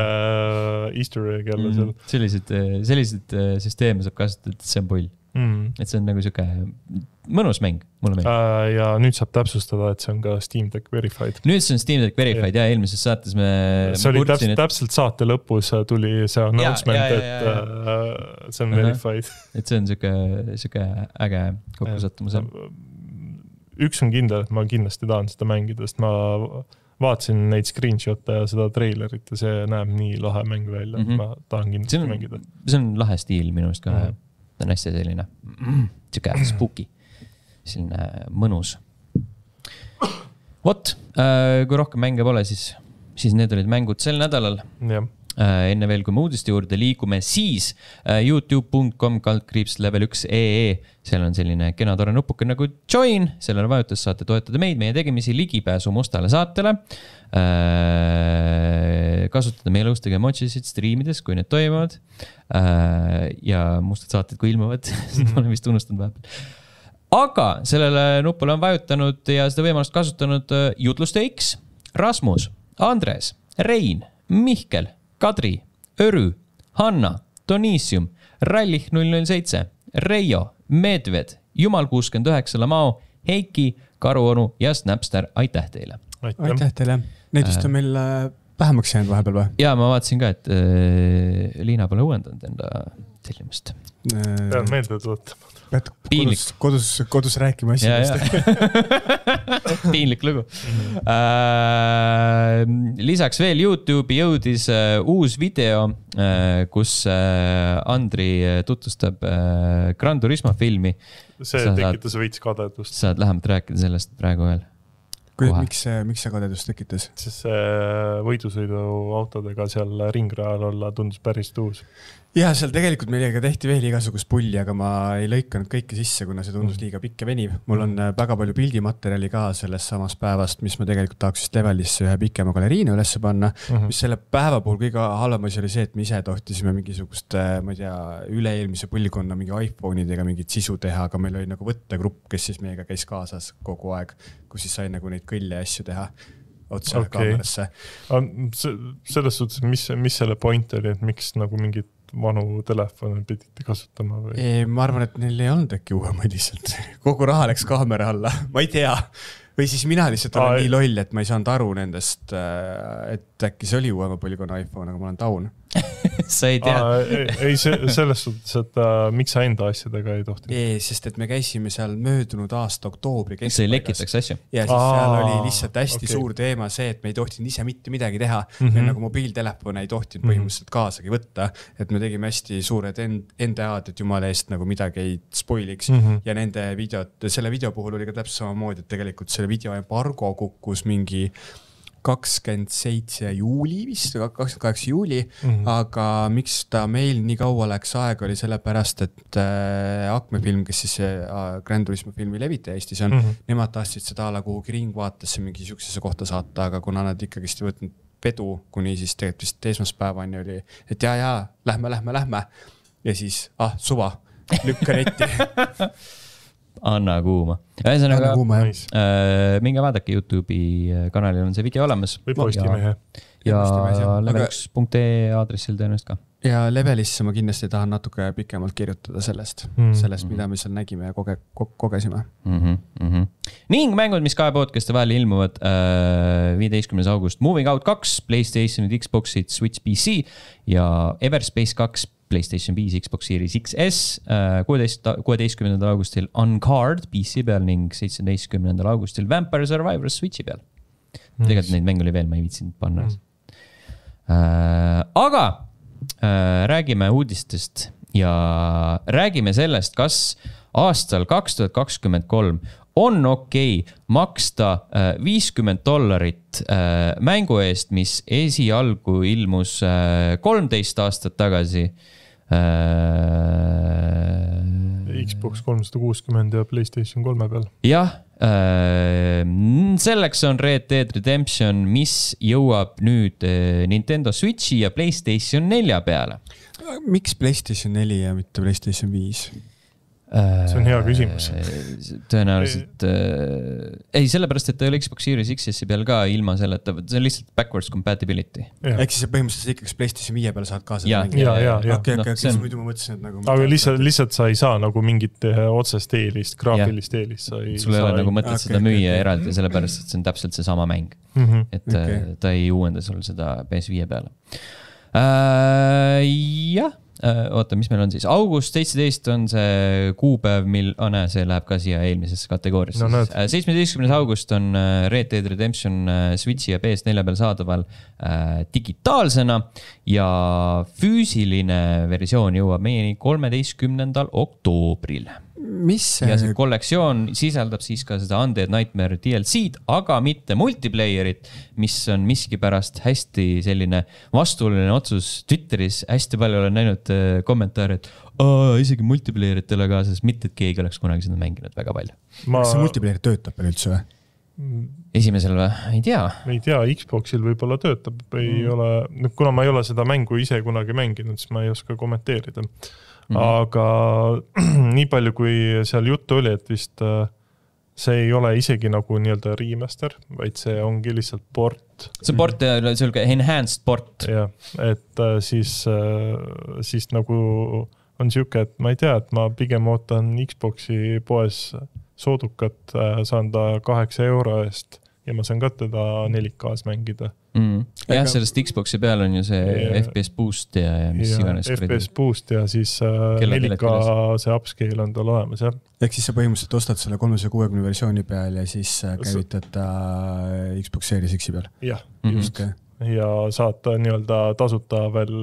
S3: easter egg jälle seal.
S1: Sellised süsteeme saab kasutada, et see on pull. Et see on nagu siuke mõnus mäng, mulle meeldib.
S3: Ja nüüd saab täpsustada, et see on ka Steam Deck Verified.
S1: Nüüd see on Steam Deck Verified ja eelmises saates
S3: see oli täpselt saate lõpus tuli see announcement, et see on Verified.
S1: Et see on siuke äge kokkusattumus.
S3: Üks on kindel, et ma kindlasti tahan seda mängida, sest ma vaatasin neid screenshot'e ja seda trailerit ja see näeb nii lahe mäng välja, et ma tahan kindlasti mängida.
S1: See on lahe stiil minu arust ka. Ta on hästi selline siuke spooky, selline mõnus. Vot, kui rohkem mänge pole, siis need olid mängud sel nädalal. Enne veel, kui me uudiste juurde liigume, siis youtube.com/level1.ee. Seal on selline kena tore nupuke nagu join. Sellele vajutus saate toetada meid, meie tegemisi, ligipääsu mustale saatele. Kasutada meie lõustage emojisid streamides, kui need toimuvad. Ja mustad saated, kui ilmuvad. Seda olen vist unustanud vahepeal. Aga sellele nupule on vajutanud ja seda võimalust kasutanud Jutluste X, Rasmus, Andres, Rein, Mihkel, Kadri, Örü, Hanna, Donisium, Rallih 007, Reijo, Medved, Jumal 69, Lamao, Heiki, Karuonu ja Snapster. Aitäh teile.
S2: Aitäh teile. Need vist on meil vähemaks jäänud vahepeal või?
S1: Ja ma vaatasin ka, et Liina pole uuendanud enda tellimust.
S3: Pean meelde tuotama.
S2: Pead kodus rääkima asjadest.
S1: Piinlik lugu. Lisaks veel YouTube'i jõudis uus video, kus Andri tutvustab Gran Turismo filmi.
S3: See tekitas veits kadedust.
S1: Saad lähemalt rääkida sellest praegu veel.
S2: Miks see kadedust tekitas?
S3: Sest võidusõidu autodega seal ringrajal olla tundus päris tuus.
S2: Ja seal tegelikult meiega tehti veel igasugust pulli, aga ma ei lõikanud kõike sisse, kuna see tundus liiga pikk ja veniv. Mul on väga palju pildimaterjali ka sellest samast päevast, mis ma tegelikult tahaks just Levelisse ühe pikema galeriina ülesse panna. Mis selle päeva puhul kõige halvem asi oli see, et me ise tohtisime mingisugust, ma ei tea, üle-eelmise põlvkonna mingi iPhone'idega mingit sisu teha, aga meil oli nagu võttegrupp, kes siis meiega käis kaasas kogu aeg, kus siis sai nagu neid kõlle asju teha otsa kaamerasse.
S3: Selles suhtes, mis selle point oli, et miks nagu mingid vanu telefone pidite kasutama või?
S2: Ma arvan, et neil ei olnud äkki uuemaid lihtsalt. Kogu raha läks kaamera alla. Ma ei tea. Või siis mina lihtsalt olen nii loll, et ma ei saanud aru nendest, et äkki see oli uuema põlvkonna iPhone, aga ma olen taun.
S1: Sa ei tea.
S3: Ei, selles suhtes, et miks sa enda asjadega ei tohti?
S2: Sest et me käisime seal möödunud aasta oktoobri keskpaigas.
S1: See lekitaks asju.
S2: Ja siis seal oli lihtsalt hästi suur teema see, et me ei tohtinud ise mitte midagi teha. Me nagu mobiiltelefone ei tohtinud põhimõtteliselt kaasagi võtta. Et me tegime hästi suured NDA-d, et jumala eest nagu midagi ei spoiliks. Ja nende selle video puhul oli ka täpselt samamoodi, et tegelikult selle video embargo kukkus mingi 27 juuli vist, 28 juuli, aga miks ta meil nii kaua läks aega oli sellepärast, et Akme-film, kes siis Gran Turismo filmi levitaja Eestis on, nemad tahtsid seda ala kuhugi ringvaatesse mingi siuksesse kohta saata, aga kuna nad ikkagist võtnud vedu, kuni siis tegelikult vist esmaspäevani oli, et ja, lähme. Ja siis, suva, lükka netti.
S1: Anna kuuma. Ühesõnaga, minge vaadake YouTube'i kanalil on see video olemas.
S3: Või Postimehe.
S1: Ja level1.ee aadressil tõenäoliselt ka.
S2: Ja Levelisse ma kindlasti tahan natuke pikemalt kirjutada sellest, mida me seal nägime ja kogesime.
S1: Ning mängud, mis kahe podcast'i vahel ilmuvad 15. august. Moving Out 2, PlayStationid, Xboxid, Switch PC ja Everspace 2, PlayStation 5, Xbox Series XS, 16. augustil Uncard PC peal ning 17. augustil Vampire Survivors Switchi peal. Tegelikult neid mänge oli veel, ma ei viitsinud panna. Aga räägime uudistest ja räägime sellest, kas aastal 2023 on okei maksta $50 mängu eest, mis esialgu ilmus 13 aastat tagasi.
S3: Xbox 360 ja PlayStation 3 peal.
S1: Jah, selleks on Red Dead Redemption, mis jõuab nüüd Nintendo Switchi ja PlayStation 4 peale.
S2: Miks PlayStation 4 ja mitte PlayStation 5?
S3: See on hea küsimus.
S1: Tõenäoliselt ei, sellepärast, et ta ei ole Xbox Series X-i peal ka ilma selleta, see on lihtsalt backwards compatibility.
S2: Ehk siis põhimõtteliselt ikkagi PlayStation 5 peal saad ka seda
S3: mängida.
S2: Okei, siis muidu ma mõtlesin, et nagu...
S3: Aga lihtsalt sa ei saa nagu mingit otsest eelist, graafilist eelist.
S1: Sul ei ole nagu mõtet seda müüa eraldi, sellepärast, et see on täpselt see sama mäng. Et ta ei uuenda sul seda PS5 peale. Jah. Oota, mis meil on siis? August 17 on see kuupäev, see läheb ka siia eelmisesse kategooriasse. 17. august on Red Dead Redemption Switchi ja PS4 peal saadaval digitaalsena ja füüsiline versioon jõuab meieni 13. oktoobril. Ja see kollektsioon sisaldab siis ka seda Undead Nightmare DLC-d, aga mitte multiplayerit, mis on miskipärast hästi selline vastuoluline otsus Twitteris. Hästi palju olen näinud kommentaare, et isegi multiplayeritele ka, sest mitte, et keegi oleks kunagi seda mänginud väga palju.
S2: Kas see multiplayer töötab veel üldse või?
S1: Esimesel või? Ei tea.
S3: Ei tea, Xboxil võib-olla töötab. Ole, kuna ma ei ole seda mängu ise kunagi mänginud, siis ma ei oska kommenteerida. Aga nii palju, kui seal juttu oli, et vist see ei ole isegi nagu nii-öelda remaster, vaid see ongi lihtsalt port.
S1: See port ja selge enhanced port.
S3: Ja, et siis nagu on siuke, et ma ei tea, et ma pigem ootan Xboxi poes soodukat, saan ta 8 € eest ja ma saan ka teda 4K-s mängida.
S1: Jah, sellest Xboxi peal on ju see FPS boost ja mis iganes.
S3: FPS boost ja siis 4K see upscale on tal olemas, jah.
S2: Ehk siis sa põhimõtteliselt ostad selle 360 versiooni peal ja siis käivitad ta Xbox Series X-i peal.
S3: Jah, just. Ja saad nii-öelda tasuta veel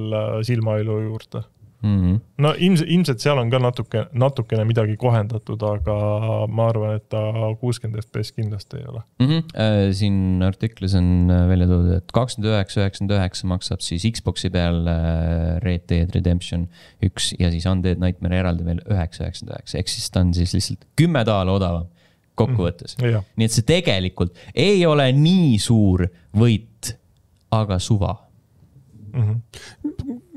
S3: silmailu juurde. No ilmselt seal on ka natukene midagi kohendatud, aga ma arvan, et ta 60 FPS kindlasti ei ole.
S1: Siin artiklis on välja toodud, et 29.99 maksab siis Xboxi peal Red Dead Redemption 1 ja siis Undead Nightmare eraldi veel 9.99. Ehk siis ta on siis lihtsalt 10 $ odavam kokkuvõttes. Nii et see tegelikult ei ole nii suur võit, aga suva.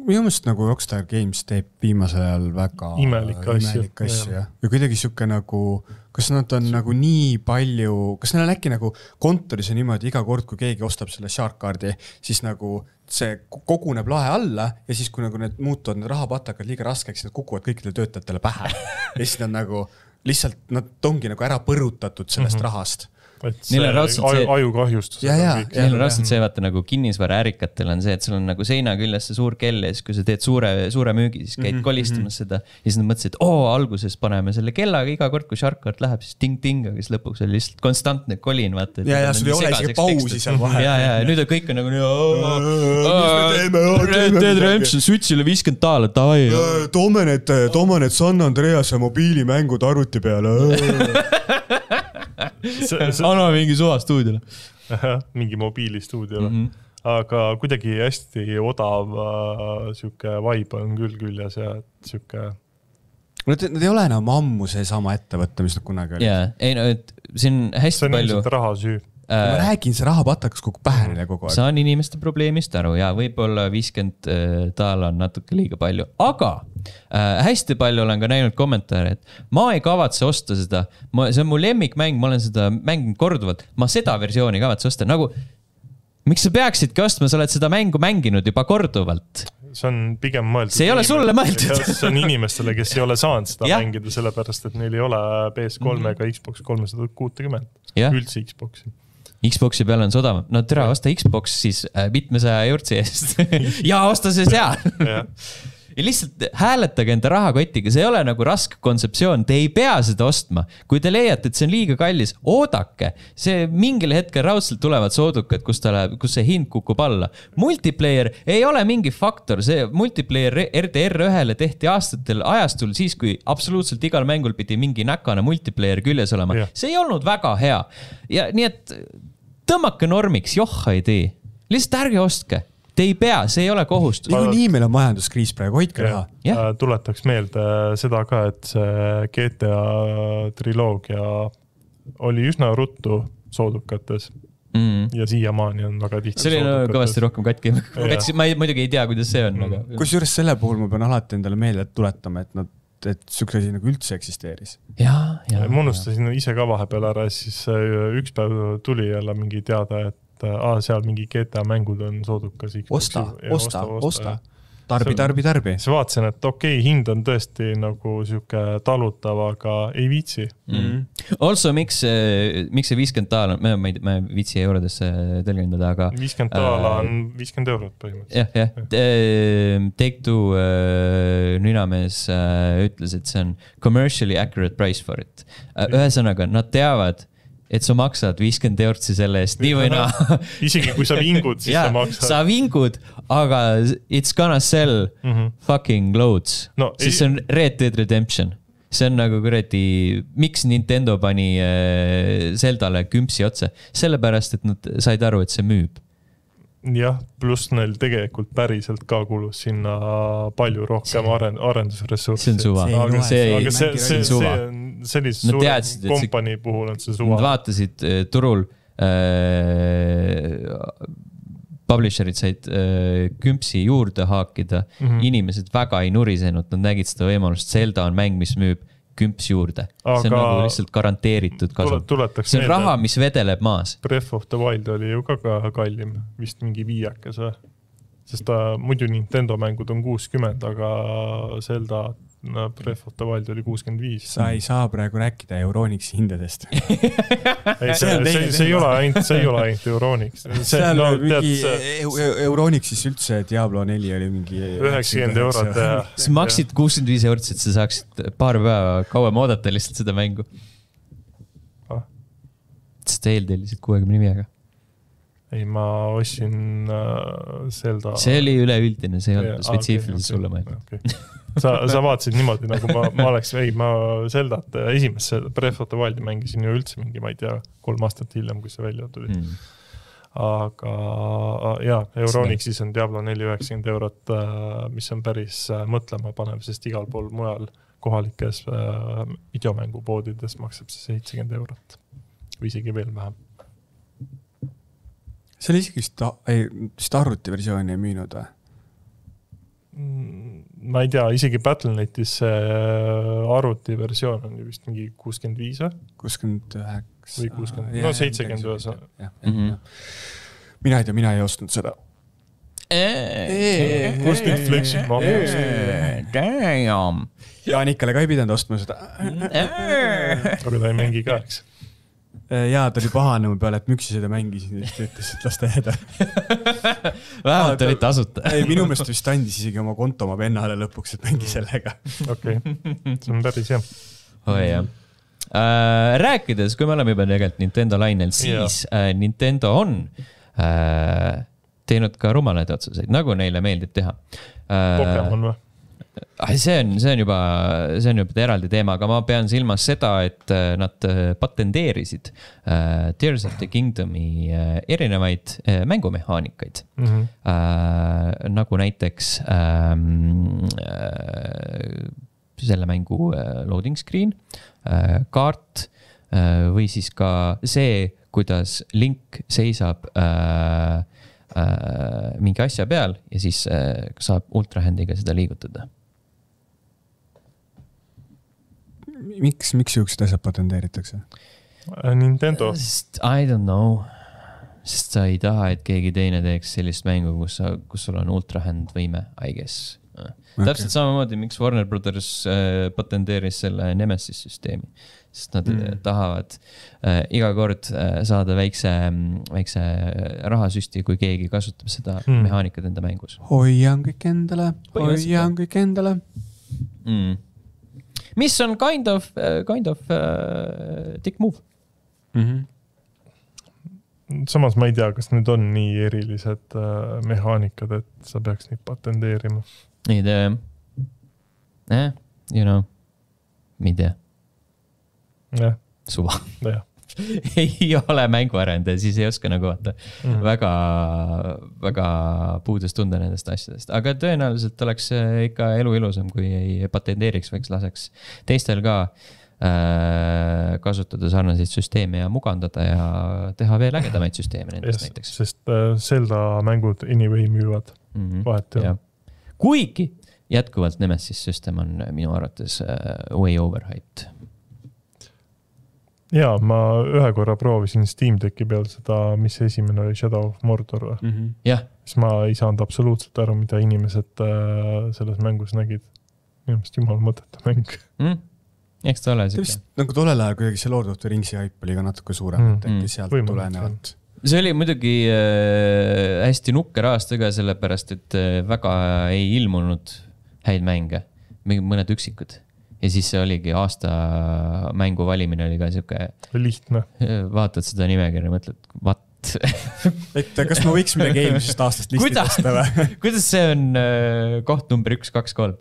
S2: Minu mõttes nagu Rockstar Games teeb viimasel ajal väga
S3: imelik asju.
S2: Ja kuidagi siuke nagu, kas nad on nagu nii palju, kas neil on äkki nagu kontoris on niimoodi iga kord, kui keegi ostab selle Shark-kaardi, siis nagu see koguneb lae alla ja siis kui nagu need muutuvad, need rahapatakad liiga raskeks, need kukuvad kõikidele töötajatele pähe. Ja siis nad nagu lihtsalt, nad ongi nagu ära põrutatud sellest rahast.
S3: Neil on ajukahjustus.
S1: Neil on raudselt see, vaata nagu kinnisvara ärikatel on see, et sul on nagu seina küljes see suur kell ja siis kui sa teed suure müügi, siis käid kolistamas seda ja siis nad mõtlesid, et alguses paneme selle kellaga iga kord, kui Shark-kaart läheb, siis ting-ting, aga siis lõpuks oli lihtsalt konstantne kolin, vaata.
S2: Ja sul ei ole isegi pausi seal vahel.
S1: Ja nüüd on kõik on nagu Red Dead Redemption Switchile 50 $, davai.
S2: Toome need San Andreas ja mobiilimängud arvuti peale.
S1: Anna mingi suva stuudiole.
S3: Mingi mobiilistuudiole. Aga kuidagi hästi odav siuke vibe on küll küljes ja siuke...
S2: Nad ei ole enam ammu see sama ettevõtte, mis nad kunagi oli.
S1: Ei no, et siin hästi palju...
S3: See on raha süü.
S2: Ma räägin, see raha patakas kogu pährile kogu aeg.
S1: Saan inimeste probleemist aru ja võib-olla 50 $ on natuke liiga palju, aga hästi palju olen ka näinud kommentaare, et ma ei kavatse osta seda, see on mu lemmikmäng, ma olen seda mänginud korduvalt, ma seda versiooni kavatse osta, nagu miks sa peaksidki ostma, sa oled seda mängu mänginud juba korduvalt?
S3: See on pigem mõeldud.
S1: See ei ole sulle mõeldud.
S3: See on inimestele, kes ei ole saanud seda mängida, sellepärast, et neil ei ole PS3 ega Xbox 360, üldse Xboxi.
S1: Xboxi peal on sodavam. No tere, osta Xbox siis 700 € eest. Ja osta see seal. Ja lihtsalt hääletage enda rahakotiga, see ei ole nagu raske kontseptsioon, te ei pea seda ostma. Kui te leiate, et see on liiga kallis, oodake. See mingil hetkel raudselt tulevad soodukad, kus see hind kukub alla. Multiplayer ei ole mingi faktor, see multiplayer RDR1-le tehti aastatel ajastul siis, kui absoluutselt igal mängul pidi mingi näkane multiplayer küljes olema. See ei olnud väga hea. Ja nii et tõmmake normiks, johha ei tee. Lihtsalt ärge ostke. Te ei pea, see ei ole kohustus.
S2: Nii meil on majanduskriis praegu, hoidke raha.
S3: Tuletaks meelde seda ka, et see GTA triloogia oli üsna ruttu soodukates ja siiamaani on väga tihti
S1: soodukates. See oli kõvasti rohkem katki. Ma muidugi ei tea, kuidas see on.
S2: Kusjuures selle puhul ma pean alati endale meelde tuletama, et nad et siukse asi nagu üldse eksisteeris.
S3: Ma unustasin ise ka vahepeal ära, siis üks päev tuli jälle mingi teada, et seal mingi GTA mängud on soodukas.
S2: Osta. Tarbi.
S3: Siis vaatasin, et okei, hind on tõesti nagu siuke talutav, aga ei viitsi.
S1: Also, miks see $50 on, ma ei viitsi eurodesse tõlgendada, aga...
S3: $50 on €50 põhimõtteliselt.
S1: Jah. Take-Two nünamees ütles, et see on commercially accurate price for it. Ühesõnaga, nad teavad, et sa maksad €50 selle eest nii või naa.
S3: Isegi kui sa vingud, siis sa maksad.
S1: Sa vingud, aga it's gonna sell fucking loads. No, siis see on Red Dead Redemption. See on nagu kuradi, miks Nintendo pani Zeldale kümpsi otsa? Sellepärast, et nad said aru, et see müüb.
S3: Jah, pluss neil tegelikult päriselt ka kulus sinna palju rohkem arendusressurssi.
S1: See on suva.
S3: Aga see on sellise suure kompanii puhul on see suva.
S1: Nad vaatasid turul, publisherid said kümpsi juurde haakida, inimesed väga ei nurisenud, nad nägid seda võimalust, Zelda on mäng, mis müüb kümps juurde. See on nagu lihtsalt garanteeritud kasu. See on raha, mis vedeleb maas.
S3: Breath of the Wild oli ju ka kallim, vist mingi 5, sest muidu Nintendo mängud on 60, aga Zelda Breath of the Wild oli 65.
S2: Sa ei saa praegu rääkida Euronixi hindadest.
S3: See ei ole ainult Euronix.
S2: Euronixis üldse Diablo 4 oli mingi
S3: €90.
S1: Sa maksid €65, et sa saaksid paar päeva kauem oodata lihtsalt seda mängu. Sest eeldellisid 65.
S3: Ei, ma ostsin Zelda...
S1: See oli üleüldine, see ei olnud spetsiifiliselt sulle mõelda.
S3: Okay. Sa vaatasid niimoodi, nagu ma Zeldat esimesse Breath of the Wildi mängisin ju üldse mingi, ma ei tea, 3 aastat hiljem, kui see välja tuli. Aga Euronixis on Diablo 4 €90, mis on päris mõtlema panev, sest igal pool mujal kohalikes videomängupoodides maksab see €70 või isegi veel vähem.
S2: See oli isegi vist arvutiversiooni ei müünud või?
S3: Ma ei tea, isegi Battle.netis arvutiversioon on ju vist mingi 65 või?
S2: 69
S3: või 60, no 70.
S2: Mina ei tea, mina ei ostnud seda.
S3: Kust nüüd fleksid ma?
S2: Jaanikale ka ei pidanud ostma seda.
S3: Aga ta ei mängi ka, eks?
S2: Jaa, ta oli pahane mu peale, et müksi seda mängisin ja siis ütles, et las ta jääda.
S1: Vähemalt oli tasuta.
S2: Ei, minu meelest vist andis isegi oma konto oma vennale lõpuks, et mängi sellega.
S3: Okei, see on päris hea.
S1: Jah. Rääkides, kui me oleme juba tegelikult Nintendo lainel, siis Nintendo on teinud ka rumalaid otsuseid, nagu neile meeldib teha.
S3: Pokemon või?
S1: See on juba eraldi teema, aga ma pean silmas seda, et nad patenteerisid Tears of the Kingdomi erinevaid mängumehaanikaid. Nagu näiteks selle mängu loading screen, kaart või siis ka see, kuidas Link seisab mingi asja peal ja siis saab ultrahandiga seda liigutada.
S2: Miks siuksed asjad patenteeritakse?
S3: Nintendo.
S1: I don't know. Sest sa ei taha, et keegi teine teeks sellist mängu, kus sul on ultrahand võime, I guess. Täpselt samamoodi, miks Warner Brothers patenteeris selle Nemesis süsteemi. Sest nad tahavad iga kord saada väikse rahasüsti, kui keegi kasutab seda mehaanikat enda mängus.
S2: Hoian kõik endale.
S1: Mis on kind of dick move.
S3: Samas ma ei tea, kas need on nii erilised mehaanikad, et sa peaks neid patenteerima.
S1: Ei tea. Mi tea. Suva. Ei ole mänguarendaja, siis ei oska nagu vaata väga puudust tunda nendest asjadest. Aga tõenäoliselt oleks ikka elu ilusam, kui ei patenteeriks, võiks laseks teistel ka kasutada sarnaseid süsteeme ja mugandada ja teha veel ägedamaid süsteeme nendest näiteks.
S3: Sest Zelda mängud anyway müüvad vahet.
S1: Kuigi jätkuvalt Nemesis System on minu arvates way overhyped.
S3: Jaa, ma ühe korra proovisin Steam Decki peal seda, mis esimene oli Shadow of Mordor.
S1: Jah.
S3: Siis ma ei saanud absoluutselt aru, mida inimesed selles mängus nägid. Minu meelest jumal mõteta mäng.
S1: Eks ta ole
S2: siuke. Nagu tollel ajal kuidagi see Lord of the Ringsi hype oli ka natuke suurem, et sealt tulenevad.
S1: See oli muidugi hästi nukker aastaga, sellepärast, et väga ei ilmunud häid mänge, mõned üksikud. Ja siis see oligi aasta mängu valimine oli ka siuke...
S3: Lihtne.
S1: Vaatad seda nimekirja ja mõtled, what?
S2: Et kas ma võiks midagi eelmisest aastast listi tõsta või?
S1: Kuidas see on koht number 1, 2, 3?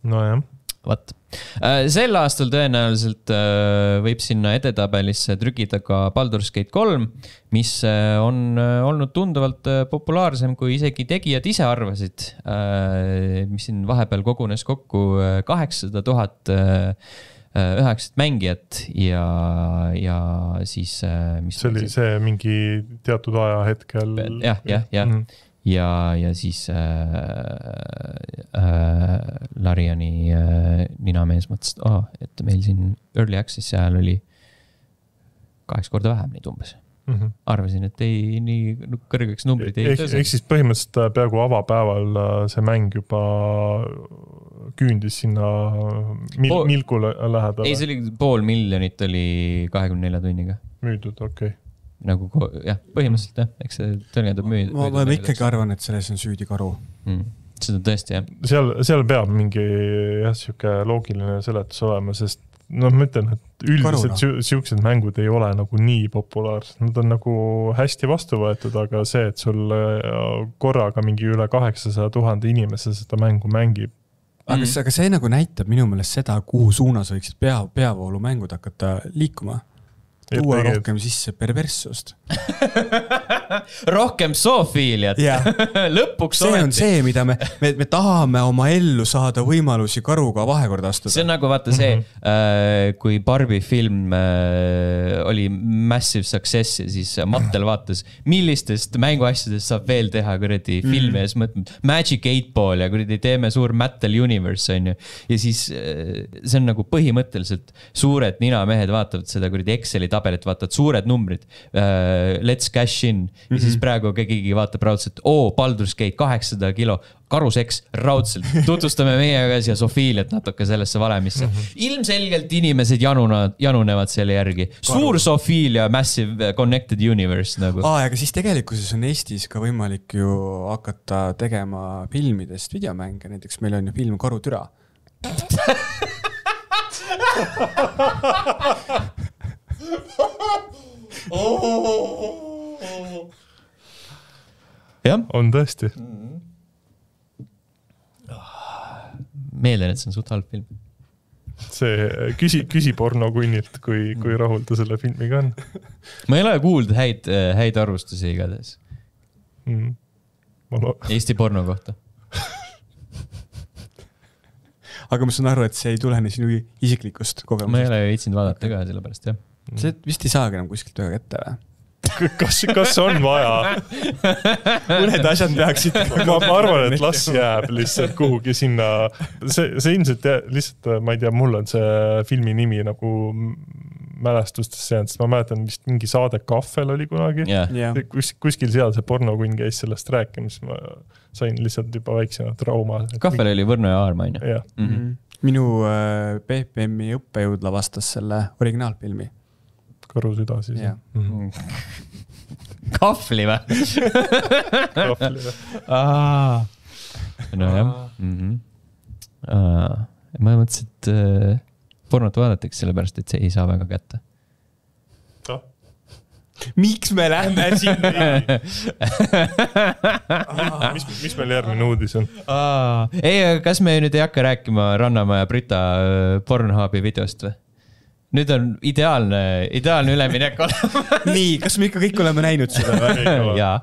S3: No jah.
S1: Vat. Sel aastal tõenäoliselt võib sinna edetabelisse trükida ka Baldur's Gate 3, mis on olnud tunduvalt populaarsem, kui isegi tegijad ise arvasid, mis siin vahepeal kogunes kokku 800 000 üheksat mängijat ja siis...
S3: see oli see mingi teatud aja hetkel...
S1: Jah. Ja siis Lariani ninamees mõtles, et meil siin Early Access ajal oli 8 korda vähem neid umbes. Arvasin, et ei nii kõrgeks numbrid ei tõse.
S3: Ehk siis põhimõtteliselt peaaegu avapäeval see mäng juba küündis sinna milku lähedale.
S1: Ei, see oli 500,000 oli 24 tunniga.
S3: Müüdud, okei.
S1: Nagu jah, põhimõtteliselt jah, eks see tõenäoliselt müüd.
S2: Ma ikkagi arvan, et selles on süüdi karu.
S1: Seda tõesti jah.
S3: Seal peab mingi siuke loogiline seletus olema, sest ma ütlen, et üldiselt siuksed mängud ei ole nagu nii populaarsed. Nad on nagu hästi vastu võetud, aga see, et sul korraga mingi üle 800 000 inimese seda mängu mängib.
S2: Aga see nagu näitab minu meelest seda, kuhu suunas võiksid peavoolu mängud hakata liikuma. Tuua rohkem sisse perverssust.
S1: Rohkem zoofiiliat. Lõpuks
S2: see on see, mida me tahame oma ellu saada võimalusi karuga vahekorda astuda.
S1: See on nagu vaata see, kui Barbie film oli massive success ja siis Mattel vaatas, millistest mänguasjadest saab veel teha kuradi filmi ja siis mõtleme Magic 8 Ball ja kuradi teeme suur Mattel Universe on ju. Ja siis see on nagu põhimõtteliselt suured ninamehed vaatavad seda kuradi Exceli tabelit, vaatavad suured numbrid, let's cash in ja siis praegu keegi vaatab raudselt, Baldur's Gate 800 kilo, karuseks raudselt, tutvustame meiega siia Sofiiliat natuke sellesse valemisse. Ilmselgelt inimesed janunevad selle järgi. Suur Sofiilia Massive Connected Universe nagu.
S2: Aga siis tegelikkuses on Eestis ka võimalik ju hakata tegema filmidest videomänge, näiteks meil on ju film Karutüra.
S3: Jah, on tõesti.
S1: Meelden, et see on suht halb film.
S3: See küsi porno kunnilt, kui rahul ta selle filmiga on.
S1: Ma ei ole kuulnud häid arvustusi igades. Eesti porno kohta.
S2: Aga ma saan aru, et see ei tulene sinu isiklikust kogemusest.
S1: Ma ei ole viitsinud vaadata ka sellepärast, jah.
S2: See vist ei saagi enam kuskilt väga kätte või?
S3: Kas on vaja?
S2: Mõned asjad peaksid.
S3: Ma arvan, et las jääb lihtsalt kuhugi sinna. See ilmselt lihtsalt, ma ei tea, mul on see filmi nimi nagu mälestustes seanud, sest ma mäletan vist mingi saade Kahvel oli kunagi. Kuskil seal see pornokunn käis sellest rääkimis. Ma sain lihtsalt juba väiksena trauma.
S1: Kahvel oli Võrno ja Aarma,
S3: jah.
S2: Minu BPM-i õppejõud lavastas selle originaalfilmi.
S3: Karusüda siis.
S1: Kahvli või?
S3: Kahvli või?
S1: No jah. Ma mõtlesin, et pornot vaadatakse sellepärast, et see ei saa väga kätte.
S2: Miks me lähme sinna?
S3: Mis meil järgmine uudis on?
S1: Ei, kas me nüüd ei hakka rääkima Rannamäe ja Brita Pornhubi videost või? Nüüd on ideaalne üleminek olema.
S2: Nii, kas me ikka kõik oleme näinud seda või?
S1: Jaa.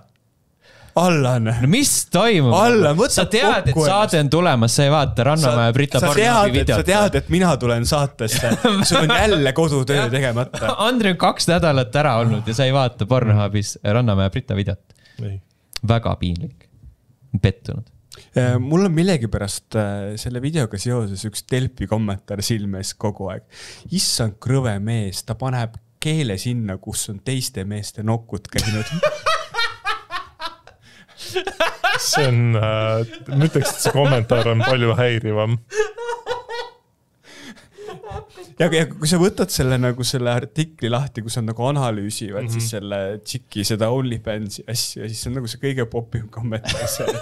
S2: Allan.
S1: No mis toimub?
S2: Allan, võta
S1: sa tead, et saade on tulemas, sa ei vaata Rannamäe ja Brita Pornhubi videot.
S2: Sa tead, et mina tulen saatesse. Sul on jälle kodutöö tegemata.
S1: Andre on 2 nädalat ära olnud ja sa ei vaata Pornhubis Rannamäe ja Brita videot. Väga piinlik. Pettunud.
S2: Mul on millegipärast selle videoga seoses üks Delfi kommentaar silmes kogu aeg. Issand krõve mees, ta paneb keele sinna, kus on teiste meeste nokud käinud.
S3: See on, ma ütleks, et see kommentaar on palju häirivam.
S2: Ja kui sa võtad selle, nagu selle artikli lahti, kus on nagu analüüsivad siis selle tšiki, seda OnlyFansi asju ja siis on nagu see kõige popim kommentaar seal.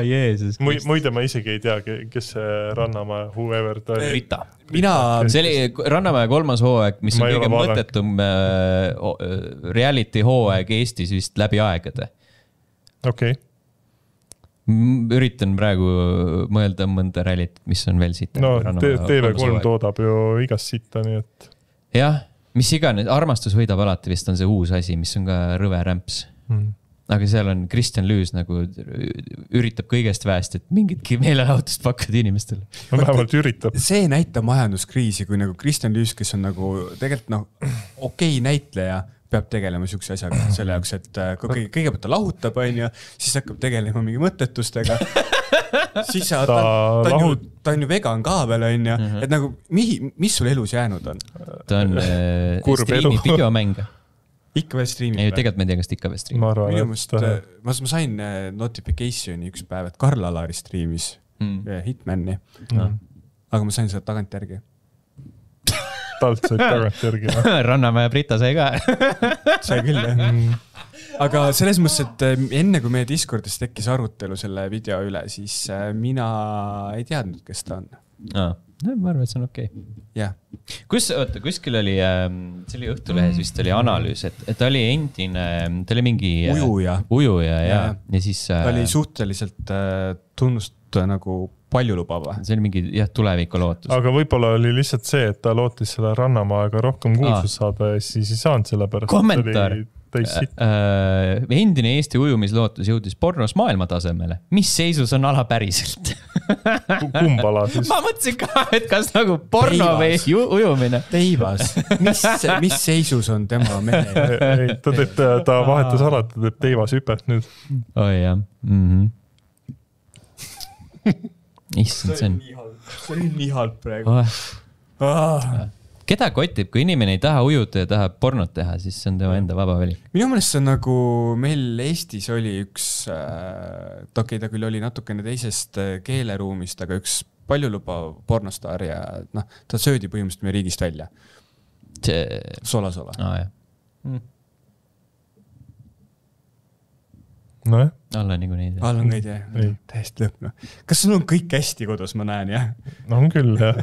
S1: Jeesus.
S3: Muide, ma isegi ei tea, kes see Rannamäe, whoever ta oli.
S1: Rita. See oli Rannamäe 3. hooaeg, mis on kõige mõttetum reality hooaeg Eestis vist läbi aegade.
S3: Okei.
S1: Üritan praegu mõelda mõnda reality, mis on veel siit.
S3: No TV3 toodab ju igast sitta, nii et...
S1: Jah, mis iganes, armastus võidab alati vist on see uus asi, mis on ka rõve rämps. Aga seal on Kristjan Lüüs nagu üritab kõigest väest, et mingitki meelelahutust pakkuda inimestele.
S3: No vähemalt üritab.
S2: See näitab majanduskriisi, kui nagu Kristjan Lüüs, kes on nagu tegelikult okei näitleja, peab tegelema siukse asjaga selle jaoks, et kõigepealt ta lahutab, siis hakkab tegelema mingi mõttetustega. Siis ta on ju vegan ka veel, et nagu, mis sul elus jäänud on?
S1: Ta on streamib videomänge.
S2: Ikka veel streamib?
S1: Ei, tegelikult ma ei tea, kas ta ikka veel streamib.
S2: Ma sain notificationi üks päev, et Karl Alari streamis Hitmani. Aga ma sain seda tagant järgi.
S3: Talt said tagant järgi.
S1: Rannamäe Brita sai ka.
S2: Sai küll, jah. Aga selles mõttes, et enne kui meie Discordis tekkis arutelu selle video üle, siis mina ei teadnud, kes ta on.
S1: Ma arvan, et see on okei.
S2: Jah.
S1: Kuskil oli, see oli Õhtulehes vist oli analüüs, et ta oli endine, ta oli mingi ujuja ja siis...
S2: Ta oli suhteliselt tunnust nagu paljulubava.
S1: See oli mingi tuleviku lootus.
S3: Aga võib-olla oli lihtsalt see, et ta lootis selle Rannamaaga rohkem kuulsust saada ja siis ei saanud selle pärast.
S1: Kommentaar. Endine Eesti ujumislootus jõudis pornos maailma tasemele. Mis seisus on ala päriselt?
S3: Kumbala siis?
S1: Ma mõtlesin ka, et kas nagu porno või ujumine.
S2: Teivas. Mis seisus on tema mehe?
S3: Ta vahetas alati, ta teeb teivas hüpet nüüd.
S1: Oi jah. Issand,
S2: see on nii halb praegu.
S1: Keda kotib, kui inimene ei taha ujuda ja tahab pornot teha, siis see on tema enda vaba vali.
S2: Minu mõelest see on nagu meil Eestis oli üks, ta küll oli natukene teisest keeleruumist, aga üks paljulubav pornostaar ja ta söödi põhimõtteliselt meie riigist välja. Sola.
S3: No jah.
S1: Alla nigu neid.
S2: Alla neid, jah. Täiesti lõpno. Kas sul on kõik hästi kodus, ma näen, jah?
S3: No on küll, jah.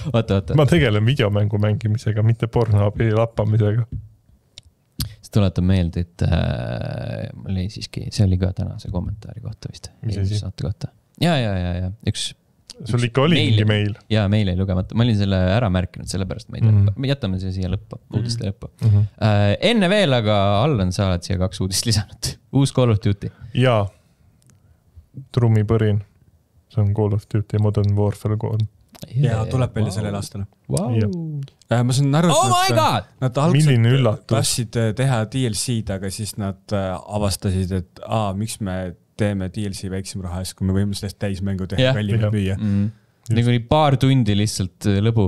S1: Oota.
S3: Ma tegelen videomängu mängimisega, mitte pornoabi lappamisega.
S1: See tuletab meelde, et oli siiski, see oli ka tänase kommentaari kohta vist.
S3: Mis asi?
S1: Ja. Üks
S3: sul ikka oli mingi meil?
S1: Jaa, meil ei lugemata. Ma olin selle ära märkinud, sellepärast ma ei tea. Me jätame see siia lõppu, uudiste lõppu. Enne veel, aga Allan, sa oled siia 2 uudist lisanud. Uus Call of Duty.
S3: Jaa. Trummipõrin. See on Call of Duty Modern Warfare 3.
S2: Ja tuleb välja sellel aastal.
S1: Wow.
S2: Ma saan aru,
S1: et
S2: nad algselt tahtsid teha DLC-d, aga siis nad avastasid, et miks me teeme DLC väiksem raha, kui me võime sellest täismängu teha kallimalt müüa.
S1: Nagu nii paar tundi lihtsalt lõbu.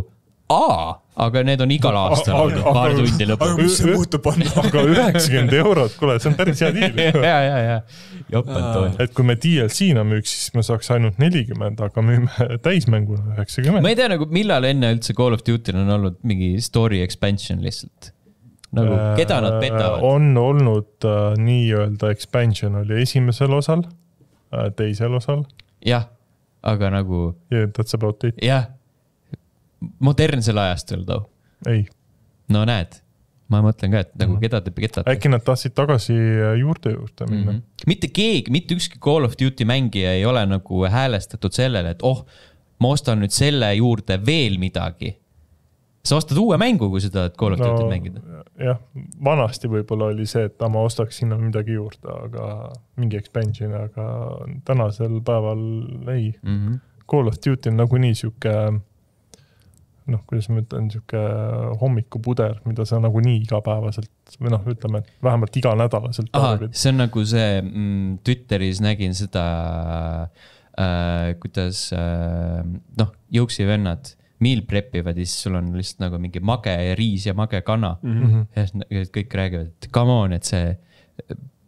S1: Aga need on igal aastal paar tundi lõbu.
S2: Aga mis see muutub on?
S3: Aga 90 €, kuule, see on päris hea diil.
S1: Ja. Joppentoon.
S3: Et kui me DLC-na müüks, siis me saaks ainult 40, aga müüme täismängu 90.
S1: Ma ei tea, nagu millal enne üldse Call of Duty on olnud mingi story expansion lihtsalt. Nagu, keda nad petavad?
S3: On olnud nii-öelda expansion oli esimesel osal, teisel osal.
S1: Jah, aga nagu...
S3: Yeah, that's about it.
S1: Jah, modernsel ajastul too.
S3: Ei.
S1: No näed, ma mõtlen ka, et nagu keda te petate.
S3: Äkki nad tahtsid tagasi juurde minna.
S1: Mitte keegi, mitte ükski Call of Duty mängija ei ole nagu häälestatud sellele, et ma ostan nüüd selle juurde veel midagi. Sa ostad uue mängu, kui seda Call of Duty mängida?
S3: Jah, vanasti võib-olla oli see, et ma ostaks sinna midagi juurde, aga mingi expansion, aga tänasel päeval ei. Call of Duty on nagu nii siuke noh, kuidas ma ütlen, siuke hommikupuder, mida sa nagu nii igapäevaselt või noh, ütleme, et vähemalt iganädalaselt
S1: tarbid. See on nagu see, Twitteris nägin seda, kuidas noh, jõuksivennad meal prepivad ja siis sul on lihtsalt nagu mingi mage riis ja mage kana. Ja kõik räägivad, et come on, et see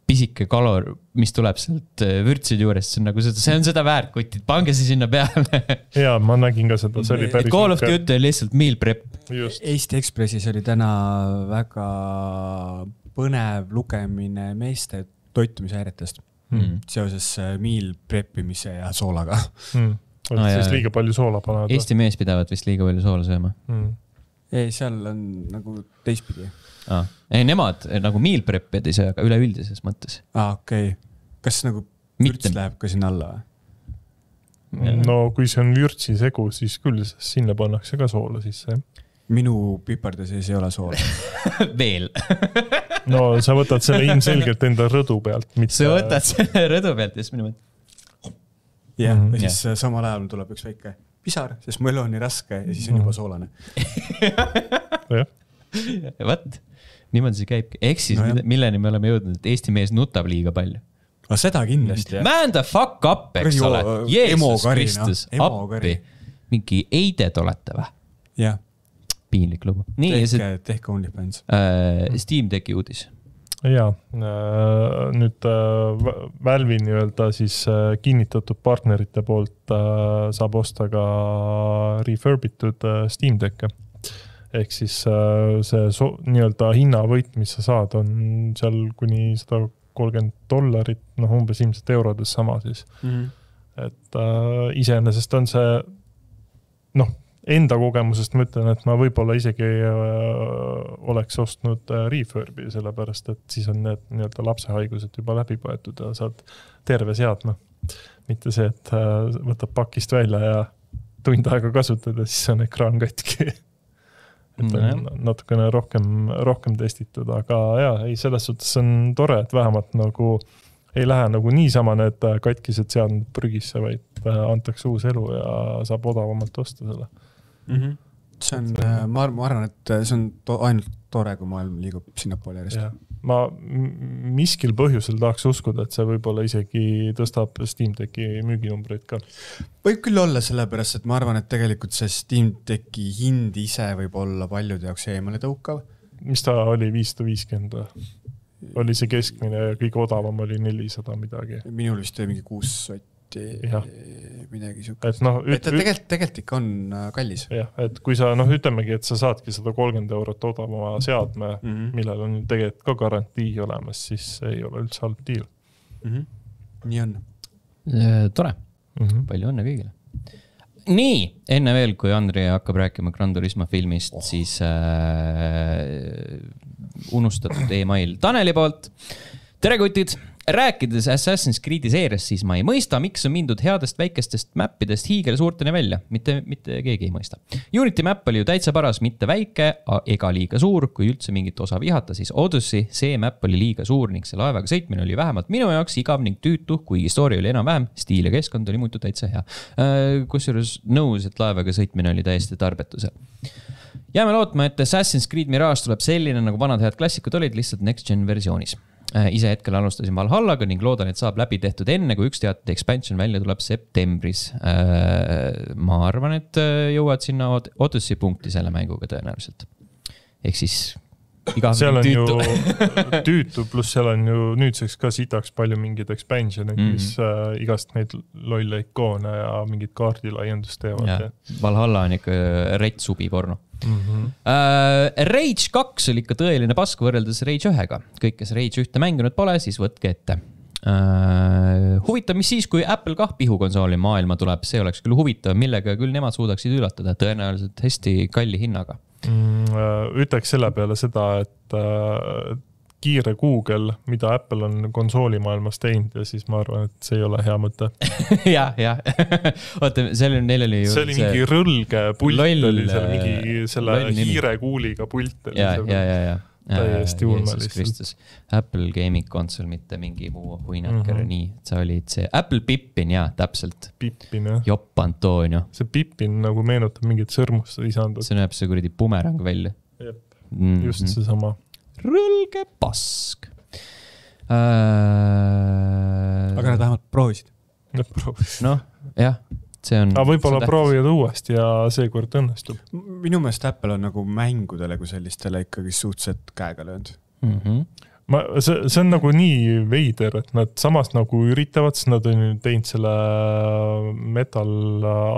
S1: pisike kalor, mis tuleb sealt vürtsid juurest, see on seda väärt kutid, pange see sinna peale.
S3: Jaa, ma nägin ka seda, see oli päris...
S1: Call of Duty on lihtsalt meal prep.
S2: Just. Eesti Ekspressis oli täna väga põnev lugemine meeste toitumishäiretest seoses meal preppimise ja soolaga.
S3: Siis liiga palju soola panevad.
S1: Eesti mees pidavat vist liiga palju soola sööma.
S2: Ei, seal on nagu teistpidi.
S1: Ei, nemad nagu meal prep'id ei söö, aga üleüldises mõttes.
S2: Okei. Kas nagu vürts läheb ka sinna alla?
S3: No kui see on vürtsi segu, siis küll sinna pannakse ka soola sisse.
S2: Minu piparde sees ei ole soola.
S1: Veel.
S3: No sa võtad selle ilmselgelt enda rõdu pealt.
S1: Sa võtad selle rõdu pealt ja siis minu mõttes.
S2: Ja siis samal ajal tuleb üks väike pisar, sest mu elu on nii raske ja siis on juba soolane.
S1: Võt, niimoodi see käibki. Ehk siis milleni me oleme jõudnud, et Eesti mees nutab liiga palju.
S2: Aga seda kindlasti.
S1: Man the fuck up, eks ole. Jeesus Kristus, appi. Mingi eided olete või?
S2: Jah.
S1: Piinlik lugu.
S2: Tehke OnlyFans.
S1: Steam Decki uudis.
S3: Jaa, nüüd Valve'i nii-öelda siis kinnitatud partnerite poolt saab osta ka refurbitud Steam Decke. Ehk siis see nii-öelda hinnavõit, mis sa saad, on seal kuni $130, noh umbes ilmselt eurodes sama siis. Et iseenesest on see, noh, enda kogemusest ma ütlen, et ma võib-olla isegi oleks ostnud refurbi, sellepärast, et siis on need nii-öelda lapsehaigused juba läbi põetud ja saad terve seadme. Mitte see, et võtab pakist välja ja tund aega kasutada, siis on ekraan katki. Et on natukene rohkem testitud, aga jah, ei, selles suhtes on tore, et vähemalt nagu ei lähe nagu niisama need katkised seadmed prügisse, vaid antakse uus elu ja saab odavamalt osta selle.
S2: See on, ma arvan, et see on ainult tore, kui maailm liigub sinna poole järjest.
S3: Ma miskil põhjusel tahaks uskuda, et see võib-olla isegi tõstab Steam Decki müüginumbreid ka.
S2: Võib küll olla sellepärast, et ma arvan, et tegelikult see Steam Decki hind ise võib olla paljude jaoks eemale tõukav.
S3: Mis ta oli 550? Oli see keskmine ja kõige odavam oli 400 midagi.
S2: Minul vist oli mingi 6 midagi siukest.
S3: Et no,
S2: tegelikult ikka on kallis.
S3: Jah, et kui sa, noh, ütlemegi, et sa saadki €130 odavama seadme, millel on tegelikult ka garantii olemas, siis ei ole üldse halb deal.
S2: Nii on.
S1: Tore. Palju õnne kõigile. Nii, enne veel, kui Andri hakkab rääkima Gran Turismo filmist, siis unustatud e-mail Taneli poolt. Tere kutid! Rääkides Assassin's Creed'i seeriast, siis ma ei mõista, miks on mindud headest väikestest mappidest hiigel suurteni välja. Mitte keegi ei mõista. Unity map oli ju täitsa paras, mitte väike ega liiga suur. Kui üldse mingit osa vihata, siis Odyssey, see map oli liiga suur ning see laevaga sõitmine oli vähemalt minu jaoks igav ning tüütu, kuigi story oli enam-vähem, stiil ja keskkond oli muidu täitsa hea. Kusjuures nõus, et laevaga sõitmine oli täiesti tarbetusel. Jääme lootma, et Assassin's Creed Mirage tuleb selline, nagu vanad head klassikud olid, lihtsalt next gen versioonis. Ise hetkel alustasin Valhallaga ning loodan, et saab läbi tehtud enne, kui üks teatud expansion välja tuleb septembris. Ma arvan, et jõuad sinna Odyssey punkti selle mänguga tõenäoliselt. Ehk siis
S3: seal on tüütu. Ju tüütu, pluss seal on ju nüüdseks ka sitaks palju mingid expansionid, mis igast neid lolle ikoone ja mingid kaardilaiendust teevad.
S1: Valhalla on ikka rets subi porno. Rage 2 oli ikka tõeline pask võrreldes Rage 1-ga. Kõik, kes Rage 1 mänginud pole, siis võtke ette. Huvitav, mis siis, kui Apple kah pihukonsooli maailma tuleb, see oleks küll huvitav, millega küll nemad suudaksid üllatada, tõenäoliselt hästi kalli hinnaga.
S3: Ütleks selle peale seda, et kiire Google, mida Apple on konsooli maailmas teinud ja siis ma arvan, et see ei ole hea mõte.
S1: jah. Oota, neil oli ju...
S3: See oli mingi rõlge pult, oli seal mingi selle hiire kuuliga pult.
S1: Ja.
S3: täiesti ulme lihtsalt.
S1: Apple Gaming Console, mitte mingi muu huinaker, nii, sa olid see Apple Pippin, jaa, täpselt.
S3: Pippin, jah.
S1: Jopp Antonio.
S3: See Pippin nagu meenutab mingit sõrmust lisandut.
S1: See näeb see kuradi bumerang välja.
S3: Jep, just see sama.
S1: Rõlge pask.
S2: Aga nad vähemalt proovisid.
S1: Noh, jah.
S3: Aga võib-olla proovivad uuesti ja seekord õnnestub.
S2: Minu meelest Apple on nagu mängudele kui sellistele ikkagi suhteliselt käega löönud.
S3: See on nagu nii veider, et nad samas nagu üritavad, sest nad on teinud selle metal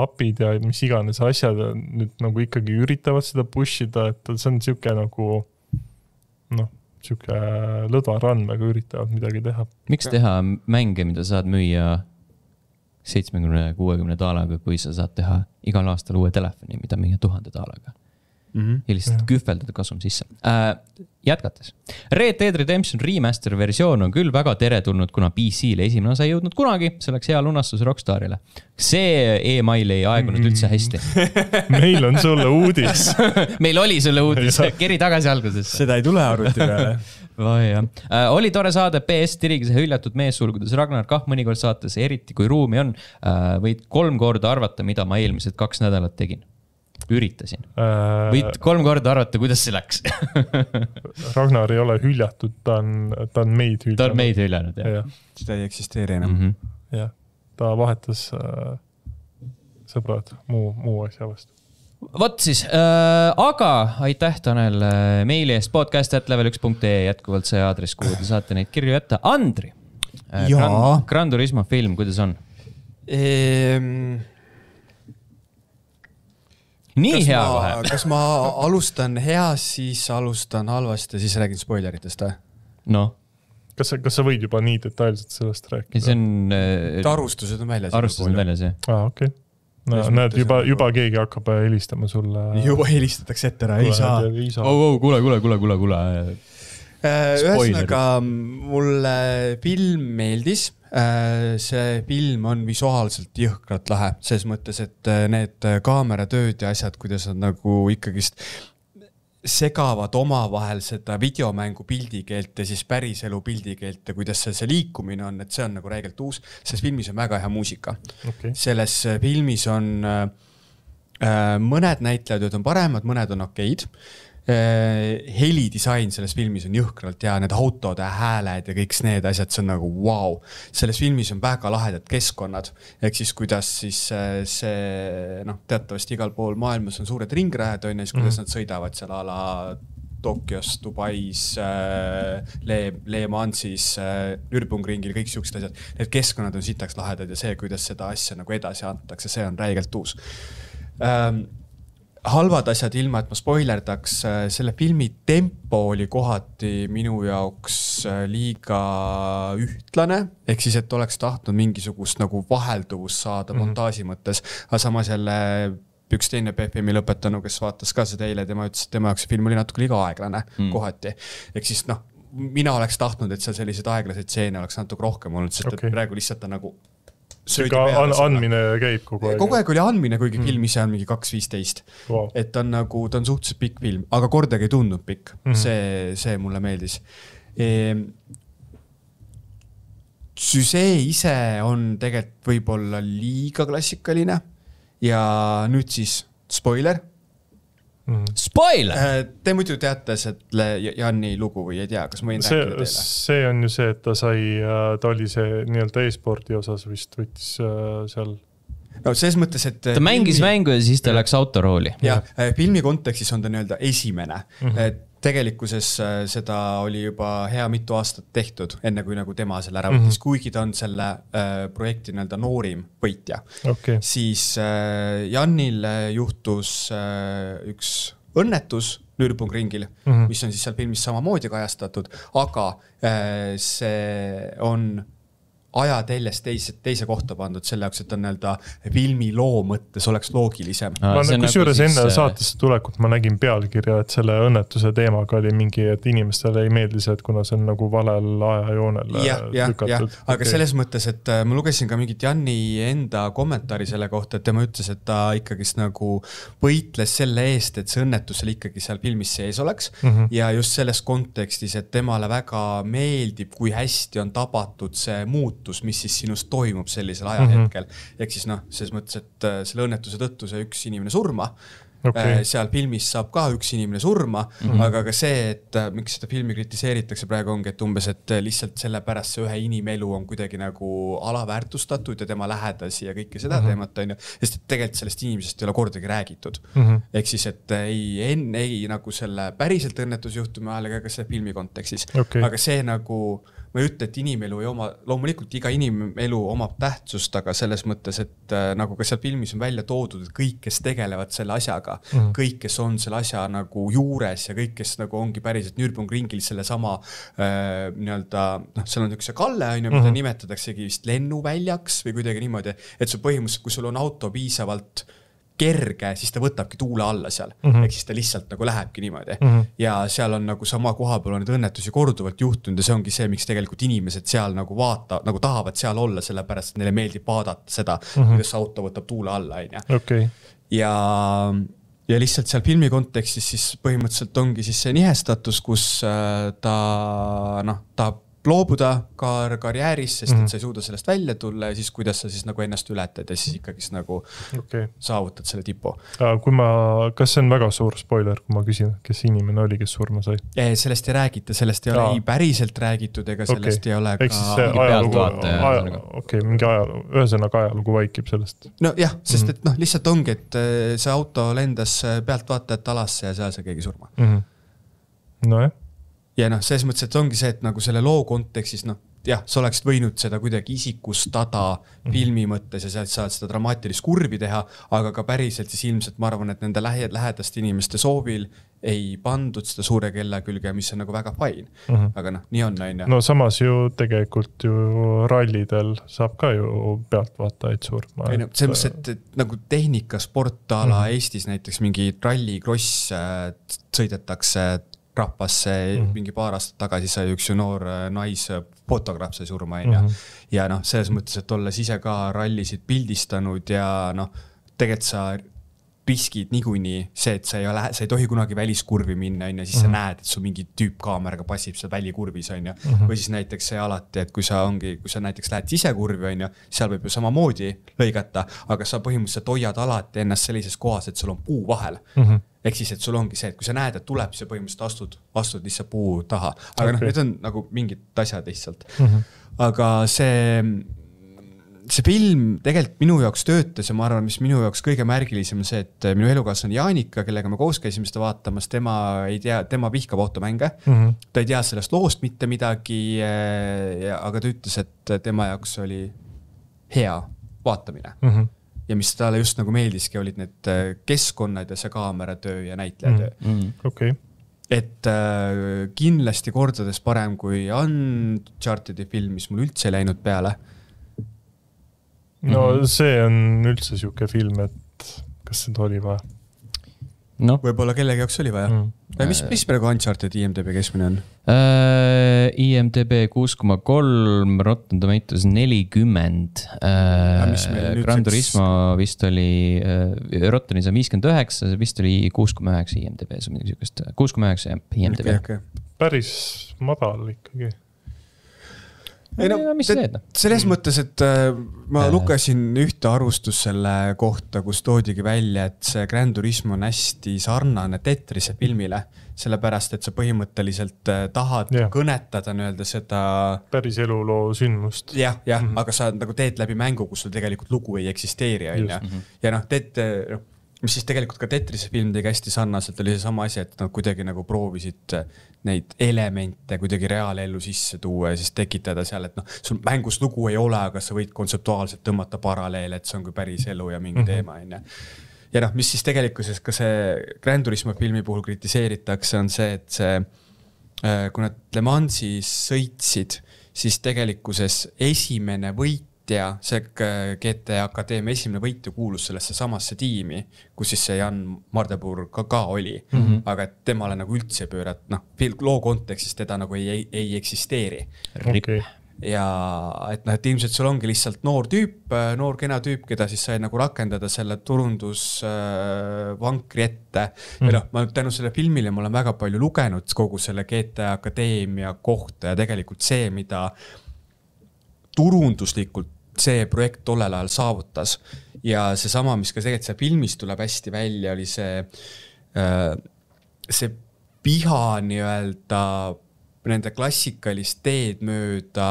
S3: appid ja mis iganes asjad nüüd nagu ikkagi üritavad seda pushida, et see on siuke nagu siuke lõdva randmega üritavad midagi teha. Miks
S1: teha mänge, mida saad müüa 70-60 daalaga, kui sa saad teha igal aastal uue telefoni, mida müüa 1000 daalaga. Ja lihtsalt kühveldada kasum sisse. Jätkates. Red Dead Redemption Remaster versioon on küll väga teretulnud, kuna PC-le esimene osa ei jõudnud kunagi, see oleks hea lunastus Rockstarile. See e-mail ei aegunud üldse hästi.
S3: Meil on sulle uudis.
S1: Meil oli sulle uudis, keri tagasi alguses.
S2: Seda ei tule arvuti peale.
S1: Oli tore saada PS tirigise hüljatud meessulgudes Ragnar Kah mõnikord saates, eriti kui ruumi on. Võid 3 korda arvata, mida ma eelmised 2 nädalat tegin. Üritasin. Võid 3 korda arvata, kuidas see läks.
S3: Ragnar ei ole hüljatud, ta on meid hüljanud.
S1: Ta on meid hüljanud, jah.
S2: Seda ei eksisteeri enam.
S3: Jah, ta vahetas sõbrad muu asja vastu.
S1: Vot siis, aga aitäh Tanel meili eest podcast@level1.ee jätkuvalt see aadress, kuhu te saate neid kirju jätta. Andri, Gran Turismo film, kuidas on? Nii hea kohe.
S2: Kas ma alustan hea, siis alustan halvasti ja siis räägin spoileritest?
S1: No.
S3: Kas sa võid juba nii detailselt sellest rääkida?
S1: See on...
S2: Arvustused on väljas.
S1: Arvustused on väljas, jah.
S3: Okei. Näed, juba keegi hakkab helistama sulle.
S2: Juba helistatakse ette ära, ei saa.
S1: Kuule.
S2: Ühesõnaga, mulle film meeldis. See film on visuaalselt jõhkralt lahe. Selles mõttes, et need kaameratööd ja asjad, kuidas on nagu ikkagist segavad omavahel seda videomängu pildikeelt ja siis päriselu pildikeelt ja kuidas see liikumine on, et see on nagu räigelt uus. Selles filmis on väga hea muusika. Selles filmis on mõned näitlejad on paremad, mõned on okeid. Helidisain selles filmis on jõhkralt ja need autode hääled ja kõik need asjad, see on nagu wow. Selles filmis on väga lahedad keskkonnad, ehk siis kuidas siis see, teatavasti igal pool maailmas on suured ringrajad, on ja siis kuidas nad sõidavad seal ala Tokyos, Dubais, Le Mansis, Nürburgringil, kõik siuksed asjad. Need keskkonnad on sitaks lahedad ja see, kuidas seda asja nagu edasi antakse, see on räigelt uus. Halvad asjad ilma, et ma spoilerdaks, selle filmi tempo oli kohati minu jaoks liiga ühtlane, ehk siis, et oleks tahtnud mingisugust nagu vahelduvust saada montaaži mõttes, aga samas jälle üks teine PFM-i lõpetanu, kes vaatas ka seda eile, tema ütles, et tema jaoks film oli natuke liiga aeglane kohati. Ehk siis mina oleks tahtnud, et seal sellised aeglased stseene oleks natuke rohkem olnud, sest et praegu lihtsalt on nagu
S3: andmine käib kogu aeg.
S2: Kogu aeg oli andmine, kuigi film ise on mingi 2.15. Wow. Et ta on suhteliselt pikk film, aga kordagi ei tundnud pikk. See mulle meeldis. Süsee ise on tegelikult võib-olla liiga klassikaline ja nüüd siis spoiler.
S1: Spoiler!
S2: Te muidu teate selle Janni lugu või ei tea, kas ma võin rääkida teile?
S3: See on ju see, et ta oli see nii-öelda e-spordi osas vist võttis seal.
S2: No selles mõttes, et...
S1: Ta mängis mängu ja siis ta läks autorooli.
S2: Ja filmi kontekstis on ta nii-öelda esimene. Tegelikkuses seda oli juba hea mitu aastat tehtud, enne kui nagu tema selle ära võttis, kuigi ta on selle projekti nii-öelda noorim võitja. Siis Jannil juhtus üks õnnetus Nürburgringil, mis on siis seal filmis samamoodi kajastatud, aga see on ajateljest teise kohta pandud selle jaoks, et on nii-öelda filmi loo mõttes oleks loogilisem.
S3: Kusjuures enne saatesse tulekut ma nägin pealkirja, et selle õnnetuse teemaga oli mingi, et inimestele ei meeldi see, et kuna see on nagu valel ajajoonel lükatud.
S2: Aga selles mõttes, et ma lugesin ka mingit Janni enda kommentaari selle kohta, et tema ütles, et ta ikkagist nagu võitles selle eest, et see õnnetusel ikkagi seal filmis sees oleks. Ja just selles kontekstis, et temale väga meeldib, kui hästi on tabatud see mis siis sinust toimub sellisel ajahetkel. Ehk siis selles mõttes, et selle õnnetuse tõttu see üks inimene surma. Seal filmis saab ka üks inimene surma, aga ka see, et miks seda filmi kritiseeritakse praegu ongi, et umbes, et lihtsalt sellepärast see ühe inimelu on kuidagi nagu alaväärtustatud ja tema lähedasi ja kõike seda teemat on ju. Sest tegelikult sellest inimesest ei ole kordagi räägitud. Ehk siis, et ei nagu selle päriselt õnnetusjuhtumi ajal ega ka selle filmi kontekstis. Aga see nagu ma ei ütle, et inimelu ei oma, loomulikult iga inimelu omab tähtsust, aga selles mõttes, et nagu ka seal filmis on välja toodud, et kõik, kes tegelevad selle asjaga, kõik, kes on selle asja nagu juures ja kõik, kes nagu ongi päriselt Nürburgringil selle sama nii-öelda, seal on üks Kalle, mida nimetataksegi vist lennuväljaks või kuidagi niimoodi, et see põhimõtteliselt, kui sul on auto piisavalt kerge, siis ta võtabki tuule alla seal. Ehk siis ta lihtsalt nagu lähebki niimoodi. Ja seal on nagu sama koha peal on need õnnetusi korduvalt juhtunud ja see ongi see, miks tegelikult inimesed seal nagu nagu tahavad seal olla, sellepärast, et neile meeldib vaadata seda, kuidas auto võtab tuule alla. Ja lihtsalt seal filmi kontekstis siis põhimõtteliselt ongi siis see nihestatus, kus ta loobuda karjääris, sest et sa ei suuda sellest välja tulla ja siis kuidas sa siis nagu ennast ületad ja siis ikkagist nagu saavutad selle tipu.
S3: Kas see on väga suur spoiler, kui ma küsin, kes inimene oli, kes surma sai?
S2: Sellest ei räägita, sellest ei ole ei päriselt räägitud ega sellest ei ole ka...
S3: Eks see ajalugu, mingi ajalugu, ühesõnaga ajalugu vaikib sellest.
S2: No jah, sest et lihtsalt ongi, et see auto lendas pealtvaatajat alasse ja seal sai keegi surma.
S3: No jah.
S2: Ja selles mõttes, et ongi see, et nagu selle loo kontekstis, jah, sa oleksid võinud seda kuidagi isikustada filmi mõttes ja sealt saad seda dramaatilist kurvi teha, aga ka päriselt siis ilmselt ma arvan, et nende lähedaste inimeste soovil ei pandud seda suure kella külge, mis on nagu väga fine. Aga nii on.
S3: No samas ju tegelikult ju rallidel saab ka ju pealtvaatajaid surma.
S2: See mõttes, et nagu tehnikasportala Eestis näiteks mingi rallikross sõidetakse Rappasse mingi paar aastat tagasi sai üks ju noor naisfotograaf sai surma. Ja selles mõttes, et olles ise ka rallisid pildistanud ja tegelikult sa riskid niikuinii see, et sa ei tohi kunagi väliskurvi minna, ja siis sa näed, et sul mingi tüüp kaameraga passib seal välikurvis, või siis näiteks see alati, et kui sa näiteks lähed sisekurvi, seal võib ju samamoodi lõigata, aga sa põhimõtteliselt hoiad alati ennast sellises kohas, et sul on puu vahel. Ehk siis, et sul ongi see, et kui sa näed, et tuleb, siis põhimõtteliselt astud lihtsalt puu taha. Aga need on nagu mingid asjad lihtsalt. Aga see film tegelikult minu jaoks töötas ja ma arvan, mis minu jaoks kõige märgilisem on see, et minu elukaaslane Jaanika, kellega me koos käisime seda vaatamas, tema vihkab automänge. Ta ei tea sellest loost mitte midagi, aga ta ütles, et tema jaoks oli hea vaatamine. Ja mis talle just nagu meeldiski, olid need keskkonnad ja see kaameratöö ja näitlejatöö. Et kindlasti kordades parem kui Unchartedi film, mis mul üldse ei läinud peale.
S3: No see on üldse siuke film, et kas seda oli vaja?
S2: Võib-olla kellegi jaoks oli vaja. Mis praegu Uncharted IMDb keskmine on?
S1: IMDb 6,3, Rotten Tomatoes 40. Gran Turismo vist oli, Rottenis on 59, vist oli 6,9 IMDb, 6,9 IMDb.
S3: Päris madal ikkagi.
S2: Selles mõttes, et ma lugesin ühte arvustust selle kohta, kus toodigi välja, et see Gran Turismo on hästi sarnane Tetrise filmile, sellepärast, et sa põhimõtteliselt tahad kõnetada seda
S3: päris eluloo sündmust.
S2: Jah, aga sa nagu teed läbi mängu, kus sul tegelikult lugu ei eksisteeri. Ja mis siis tegelikult ka Tetrise film tegi hästi sarnaselt, oli see sama asi, et nad kuidagi nagu proovisid neid elemente kuidagi reaalellu sisse tuua ja siis tekitada seal, et sul mängus lugu ei ole, aga sa võid kontseptuaalselt tõmmata paralleele, et see on kui päris elu ja mingi teema. Ja mis siis tegelikkuses ka see Gran Turismo filmi puhul kritiseeritakse, on see, et kui nad Le Mansis sõitsid siis tegelikkuses esimene võitja, see GTA Akadeemia esimene võitja kuulus sellesse samasse tiimi, kus siis see Jan Mardenburg ka oli. Aga et temale nagu üldse pöörat, loo kontekstis teda nagu ei eksisteeri.
S1: Okay.
S2: Ja et ilmselt sul ongi lihtsalt noor kena tüüp, keda siis sai nagu rakendada selle turundusvankri ette. Ja ma tänu selle filmile ma olen väga palju lugenud kogu selle GTA Akadeemia kohta ja tegelikult see, mida turunduslikult see projekt tollel ajal saavutas. Ja see sama, mis ka tegelikult see filmis tuleb hästi välja, oli see piha nii-öelda nende klassikalist teed mööda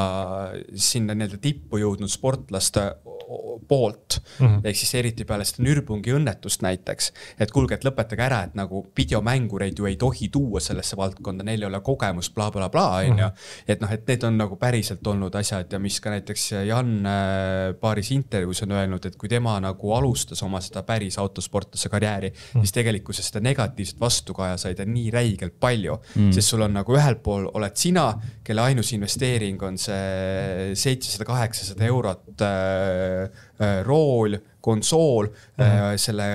S2: sinna nii-öelda tippu jõudnud sportlaste poolt, ehk siis eriti peale seda Nürburgringi õnnetust näiteks, et kuulge, et lõpetage ära, et nagu videomängureid ju ei tohi tuua sellesse valdkonda, neil ei ole kogemus, bla, bla, bla, et need on nagu päriselt olnud asjad ja mis ka näiteks Jan paaris intervjuus on öelnud, et kui tema nagu alustas oma seda päris autosportlase karjääri, siis tegelikkuses seda negatiivset vastukaja sai ta nii räigelt palju, sest sul on nagu ühel pool oled sina, kelle ainus investeering on see 700-800 eurot rool, konsool, selle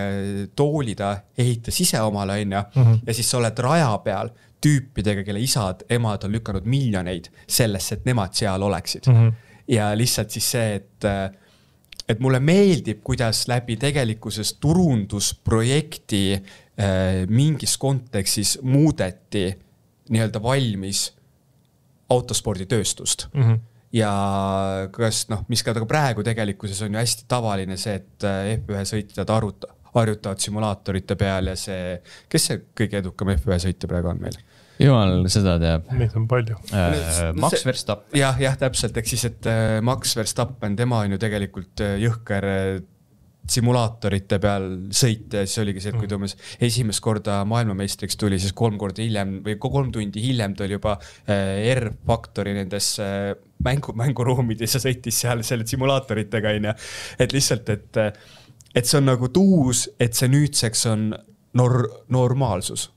S2: tooli ta ehitas ise omale, ja siis sa oled raja peal tüüpidega, kelle isad, emad on lükanud miljoneid sellesse, et nemad seal oleksid. Ja lihtsalt siis see, et mulle meeldib, kuidas läbi tegelikkuses turundusprojekti mingis kontekstis muudeti nii-öelda valmis autosporditööstust. Ja kas, mis ka praegu tegelikkuses on ju hästi tavaline see, et F1 sõitjad harjutavad simulaatorite peal ja see, kes see kõige edukam F1 sõitja praegu on meil?
S1: Jumal, seda teab.
S3: Neid on palju.
S1: Max Verstappen.
S2: Jah, täpselt, eks siis, et Max Verstappen, tema on ju tegelikult jõhker simulaatorite peal sõita ja siis oligi see, et kui ta esimest korda maailmameistriks tuli, siis 3 tundi hiljem ta oli juba R-faktori nendes mänguruumides ja sõitis seal selle simulaatoritega, et lihtsalt, et see on nagu tuus, et see nüüdseks on normaalsus.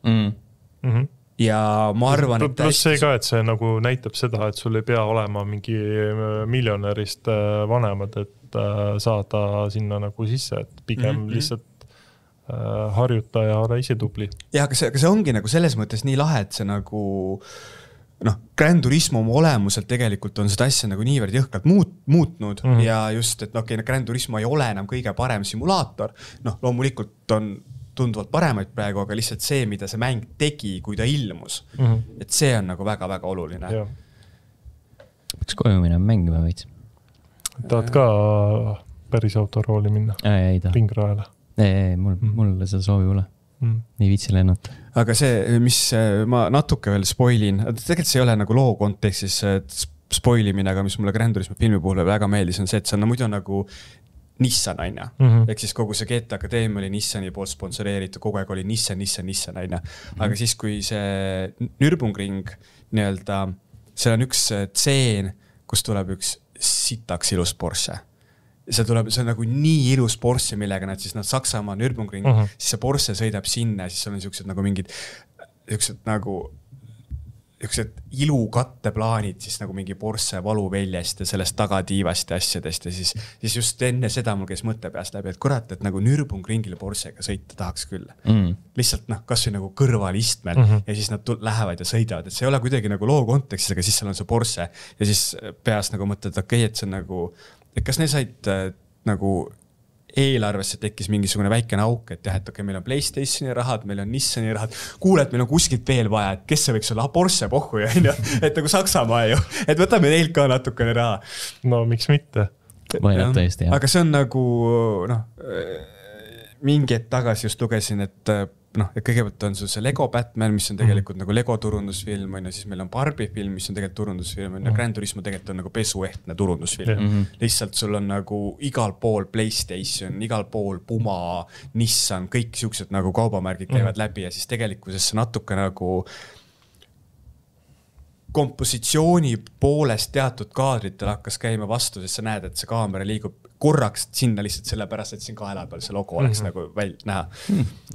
S2: Ja ma arvan,
S3: et pluss see ka, et see nagu näitab seda, et sul ei pea olema mingi miljonärist vanemad, et saada sinna nagu sisse, et pigem lihtsalt harjuta ja ole ise tubli.
S2: Ja, aga see ongi nagu selles mõttes nii lahe, et see nagu Gran Turismo oma olemuselt tegelikult on seda asja nagu niivõrd jõhkalt muutnud ja just, et Gran Turismo ei ole enam kõige parem simulaator. Loomulikult on tunduvalt paremaid praegu, aga lihtsalt see, mida see mäng tegi, kui ta ilmus. Et see on nagu väga-väga oluline.
S1: Peaks koju minna mängima võits?
S3: Tahad ka päris autorooli minna?
S1: Ei ta.
S3: Ringrajale?
S1: Ei, mul seda soovi ole. Nii viitsi lennata.
S2: Aga see, mis ma natuke veel spoilin, tegelikult see ei ole nagu loo kontekstis spoilimine, aga mis mulle Gran Turismo filmi puhul väga meeldis, on see, et see on muidu nagu Nissan, aina. Ehk siis kogu see GTA Akadeemia oli Nissani poolt sponsoreeritud, kogu aeg oli Nissan, aina. Aga siis, kui see Nürburgring nii-öelda, seal on üks tseen, kus tuleb üks sitaks ilus Porsche. See on nagu nii ilus Porsche, millega nad Saksamaa Nürburgring, siis see Porsche sõidab sinna, siis on niisugused nagu mingid ilukatteplaanid, siis nagu mingi Porsche valuväljast ja sellest tagatiivast ja asjadest ja siis just enne seda mul käis mõtte peast läbi, et kurat, et nagu Nürburgringile Porschega sõita tahaks küll. Lihtsalt kas või nagu kõrval istmel ja siis nad lähevad ja sõidavad, et see ei ole kuidagi nagu loo kontekstis, aga siis seal on see Porsche ja siis peas nagu mõtled, okei, et see on nagu, et kas ne said nagu eelarvesse tekkis mingisugune väikene auk, et jah, et okei, meil on PlayStationi rahad, meil on Nissani rahad, kuule, et meil on kuskilt veel vaja, et kes see võiks olla, Porsche pohhu ja et nagu Saksamaa ju, et võtame neilt ka natukene raha.
S3: No miks mitte?
S1: Võinab tõesti, jah.
S2: Aga see on nagu, mingi hetk tagasi just lugesin, et kõigepealt on sul see Lego Batman, mis on tegelikult nagu Lego turundusfilm, siis meil on Barbie film, mis on tegelikult turundusfilm, Gran Turismo tegelikult on nagu pesuehtne turundusfilm. Lihtsalt sul on nagu igal pool PlayStation, igal pool Puma, Nissan, kõik siuksed nagu kaubamärgid käivad läbi ja siis tegelikkuses see natuke nagu kompositsiooni poolest teatud kaadritel hakkas käima vastu, sest sa näed, et see kaamera liigub korraks sinna lihtsalt sellepärast, et siin kaela peal see logo oleks nagu näha.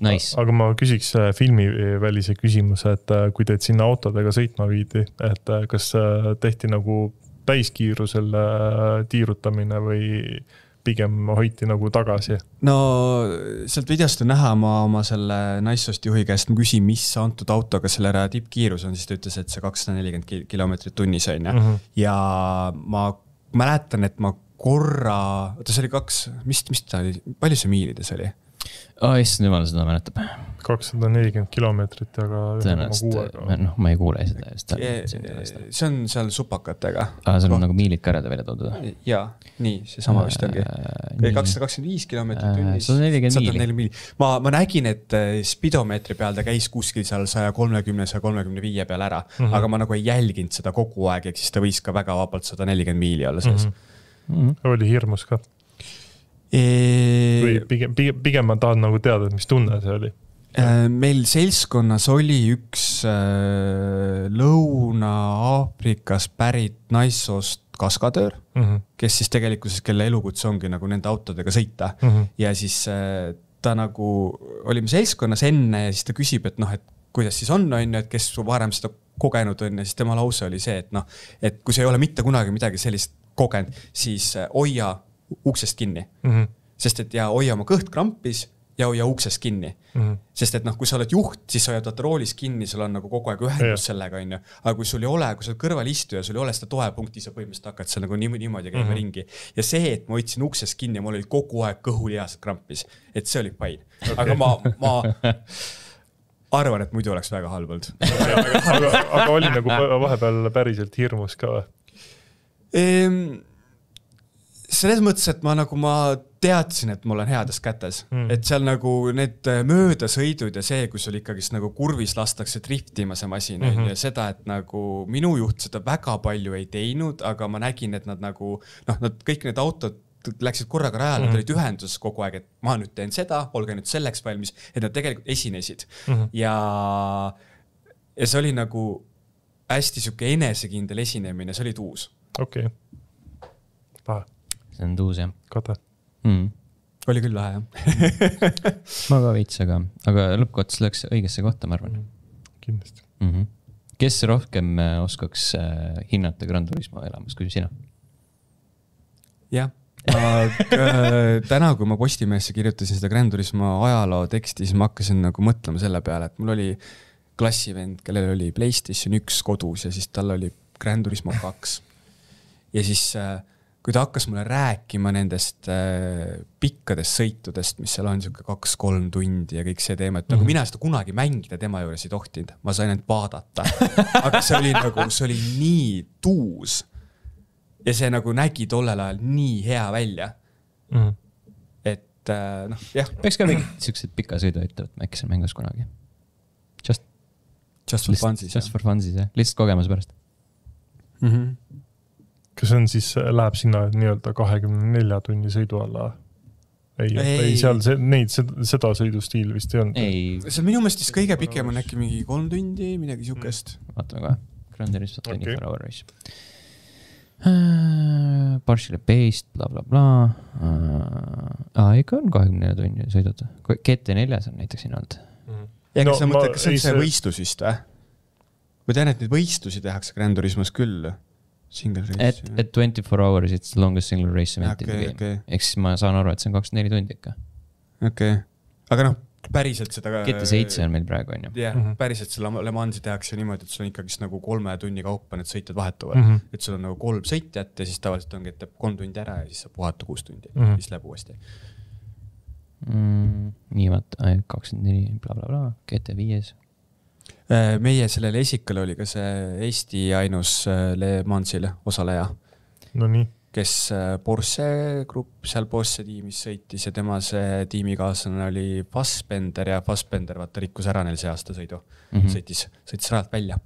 S1: Nice.
S3: Aga ma küsiks filmi välise küsimuse, et kui teid sinna autodega sõitma viidi, et kas tehti nagu täiskiirusel tiirutamine või pigem hoiti nagu tagasi?
S2: No sealt videost on näha, ma oma selle Naissost juhi käest küsin, mis antud autoga selle tippkiirus on, siis ta ütles, et see 240 kilomeetrit tunnis on. Ja ma mäletan, et ma korra, see oli mis ta oli, palju see miilides oli?
S1: Issand jumal, seda mäletab.
S3: 240 kilomeetrit, aga
S1: 1,6. Ma ei kuule seda.
S2: See on seal supakatega.
S1: Seal on nagu miilid ka välja toodud.
S2: Jaa, nii, see sama vist ongi. 225 kilomeetrit tunnis. 140 miili. Ma nägin, et spidomeetri peal ta käis kuskil seal 130-135 peal ära, aga ma nagu ei jälginud seda kogu aeg, eks siis ta võis ka väga vabalt 140 miili olla sees.
S3: Oli hirmus ka. Või pigem ma tahan nagu teada, mis tunne see oli.
S2: Meil seltskonnas oli üks Lõuna-Aafrikas pärit Naissoost kaskadöör, kes siis tegelikult, kelle elukutse ongi nagu nende autodega sõita. Ja siis ta nagu, olime seltskonnas enne ja siis ta küsib, et et kuidas siis on, et kes varem seda kogenud on ja siis tema lause oli see, et kui sa ei ole mitte kunagi midagi sellist kogenud, siis hoia uksest kinni. Sest et ja hoia oma kõht krampis ja hoia uksest kinni. Sest et kui sa oled juht, siis sa hoiad roolis kinni, sul on nagu kogu aeg ühendus sellega, aga kui sul ei ole, kui sa oled kõrval istuja, sul ei ole seda toepunkti, sa põhimõtteliselt hakkad seal nagu niimoodi käima ringi. Ja see, et ma hoidsin uksest kinni ja mul oli kogu aeg kõhulihased krampis, et see oli pain. Aga ma arvan, et muidu oleks väga halb olnud.
S3: Aga oli nagu vahepeal päriselt hirmus ka või?
S2: Selles mõttes, et ma teadsin, et mul on heades kätes. Et seal nagu need möödasõidud ja see, kus oli ikkagi nagu kurvis lastakse driftima see masin ja seda, et nagu minu juht seda väga palju ei teinud, aga ma nägin, et nad nagu, nad kõik need autod läksid korraga rajale, nad olid ühenduses kogu aeg, et ma nüüd teen seda, olge nüüd selleks valmis, et nad tegelikult esinesid. Ja see oli nagu hästi siuke enesekindel esinemine, see oli tuus.
S3: Okei. Paha.
S1: See on tuus, jah.
S3: Kata.
S2: Oli küll lahe, jah.
S1: Ma ka veits, aga lõppkots läks õigesse kohta, ma arvan.
S3: Kindlasti.
S1: Kes rohkem oskaks hinnata Gran Turismo elamas, kui sina?
S2: Jah. Täna, kui ma Postimehesse kirjutasin seda Gran Turismo ajaloo teksti, siis ma hakkasin nagu mõtlema selle peale, et mul oli klassivend, kellel oli PlayStation 1 kodus ja siis tal oli Gran Turismo 2. Ja siis kui ta hakkas mulle rääkima nendest pikkadest sõitudest, mis seal on 2-3 tundi ja kõik see teema, et nagu mina seda kunagi mängida tema juures ei tohtinud. Ma sain ainult vaadata. Aga see oli nii tuus. Ja see nagu nägi tollel ajal nii hea välja. Et jah.
S1: Peaks ka mingid sellised pika sõidu ettevõt, äkki seal mängus kunagi. Just
S2: for funsis.
S1: Just for funsis, jah. Lihtsalt kogemus pärast.
S3: Kas on siis, läheb sinna nii-öelda 24 tunni sõidu alla? Ei, seal seda sõidustiil vist ei olnud.
S2: See on minu mõistis kõige pikem on äkki mingi 3 tundi, midagi siukest.
S1: Vaatame ka. Grand Turismo 24 hour race. Partially based, bla bla bla. Ikka on 24 tunni sõidud. GT4 on näiteks siin olnud.
S2: Ja kas sa mõtled, kas see võistlus vist või? Ma tean, et neid võistlusi tehakse Gran Turismos küll. Single race.
S1: Et 24 hours, it's the longest single race event in the game. Eks ma saan aru, et see on 24 tundi ikka.
S2: Okei. Aga päriselt seda...
S1: GT7 on meil praegu, on ju.
S2: Jah, päriselt selle Le Mansi tehakse niimoodi, et sul on ikkagi nagu 3 tunni kaupa need sõitjad vahetuvad. Et sul on nagu 3 sõitjat ja siis tavaliselt ongi, et teeb 3 tundi ära ja siis saab puhata 6 tundi. Siis läheb uuesti.
S1: Nii vaata, 24 bla bla bla, GT5.
S2: Meie sellele esikale oli ka see Eesti ainus Le Mansile osaleja.
S3: No nii.
S2: Kes Porsche grupp seal Porsche tiimis sõitis ja tema see tiimikaaslane oli Fassbender ja Fassbender vaata rikkus ära neil see aasta sõidu. Sõitis rajalt välja.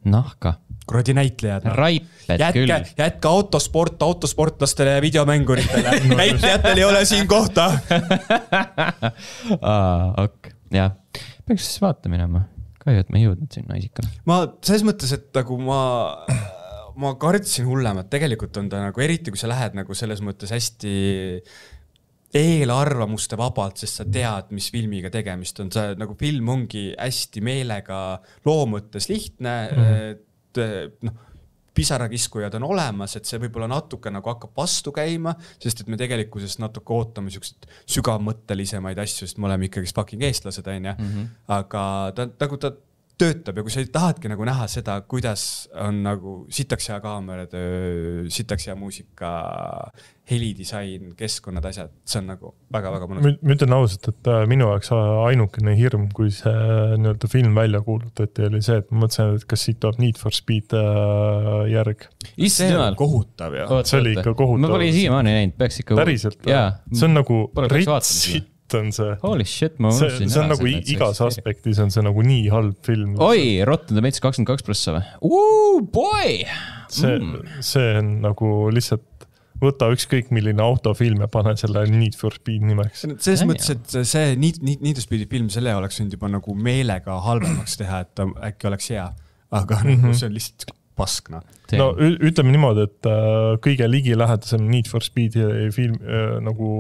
S1: Nahka.
S2: Kuradi näitlejad.
S1: Raiped küll.
S2: Jätka autosportlastele ja videomänguritele. Näitlejatel ei ole siin kohta.
S1: Ok, jah. Peaks siis vaata minema. Kahju, et me ei jõudnud sinna isikale.
S2: Ma selles mõttes, et nagu ma kartsin hullemat. Tegelikult on ta nagu, eriti kui sa lähed nagu selles mõttes hästi eelarvamuste vabalt, sest sa tead, mis filmiga tegemist on. See nagu film ongi hästi meelega loo mõttes lihtne. pisarakiskujad on olemas, et see võib-olla natuke nagu hakkab vastu käima, sest et me tegelikkuses natuke ootame siukseid sügavmõttelisemaid asju, sest me oleme ikkagi fucking eestlased, on ju. Aga ta töötab ja kui sa tahadki nagu näha seda, kuidas on nagu sitaks hea kaameratöö, sitaks hea muusika, helidisain, keskkonnad, asjad, see on nagu väga-väga mõnus.
S3: Ma ütlen ausalt, et minu jaoks ainukene hirm, kui see nii-öelda film välja kuulutati, oli see, et ma mõtlesin, et kas siit tuleb Need for Speed järg.
S2: See on kohutav, jah.
S3: See oli ikka kohutav.
S1: Ma pole siiamaani näinud, peaks ikka...
S3: Päriselt, see on nagu ritsi. On see.
S1: Holy shit, ma
S3: see on nagu igas aspektis on see nagu nii halb film.
S1: Oi, Rotten Tomatoes 22+ või? Boy!
S3: See on nagu lihtsalt võta ükskõik milline autofilm ja pane selle Need for Speed nimeks.
S2: Selles mõttes, et see Need for Speedi film, selle oleks võinud juba nagu meelega halvemaks teha, et ta äkki oleks hea. Aga see on lihtsalt paskna.
S3: No ütleme niimoodi, et kõige ligilähedasem Need for Speedi film nagu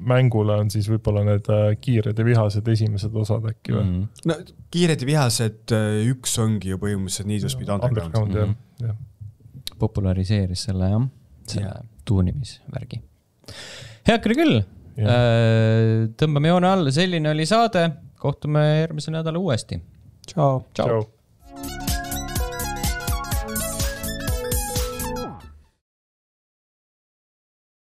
S3: mängule on siis võib-olla need kiired ja vihased esimesed osad äkki või?
S2: No kiired ja vihased üks ongi ju põhimõtteliselt Need for Speed Underground.
S1: Populariseeris selle, jah, selle tuunimisvärgi. Heakri küll. Tõmbame joone alla, selline oli saade. Kohtume järgmise nädala uuesti.
S2: Ciao.
S3: Ciao.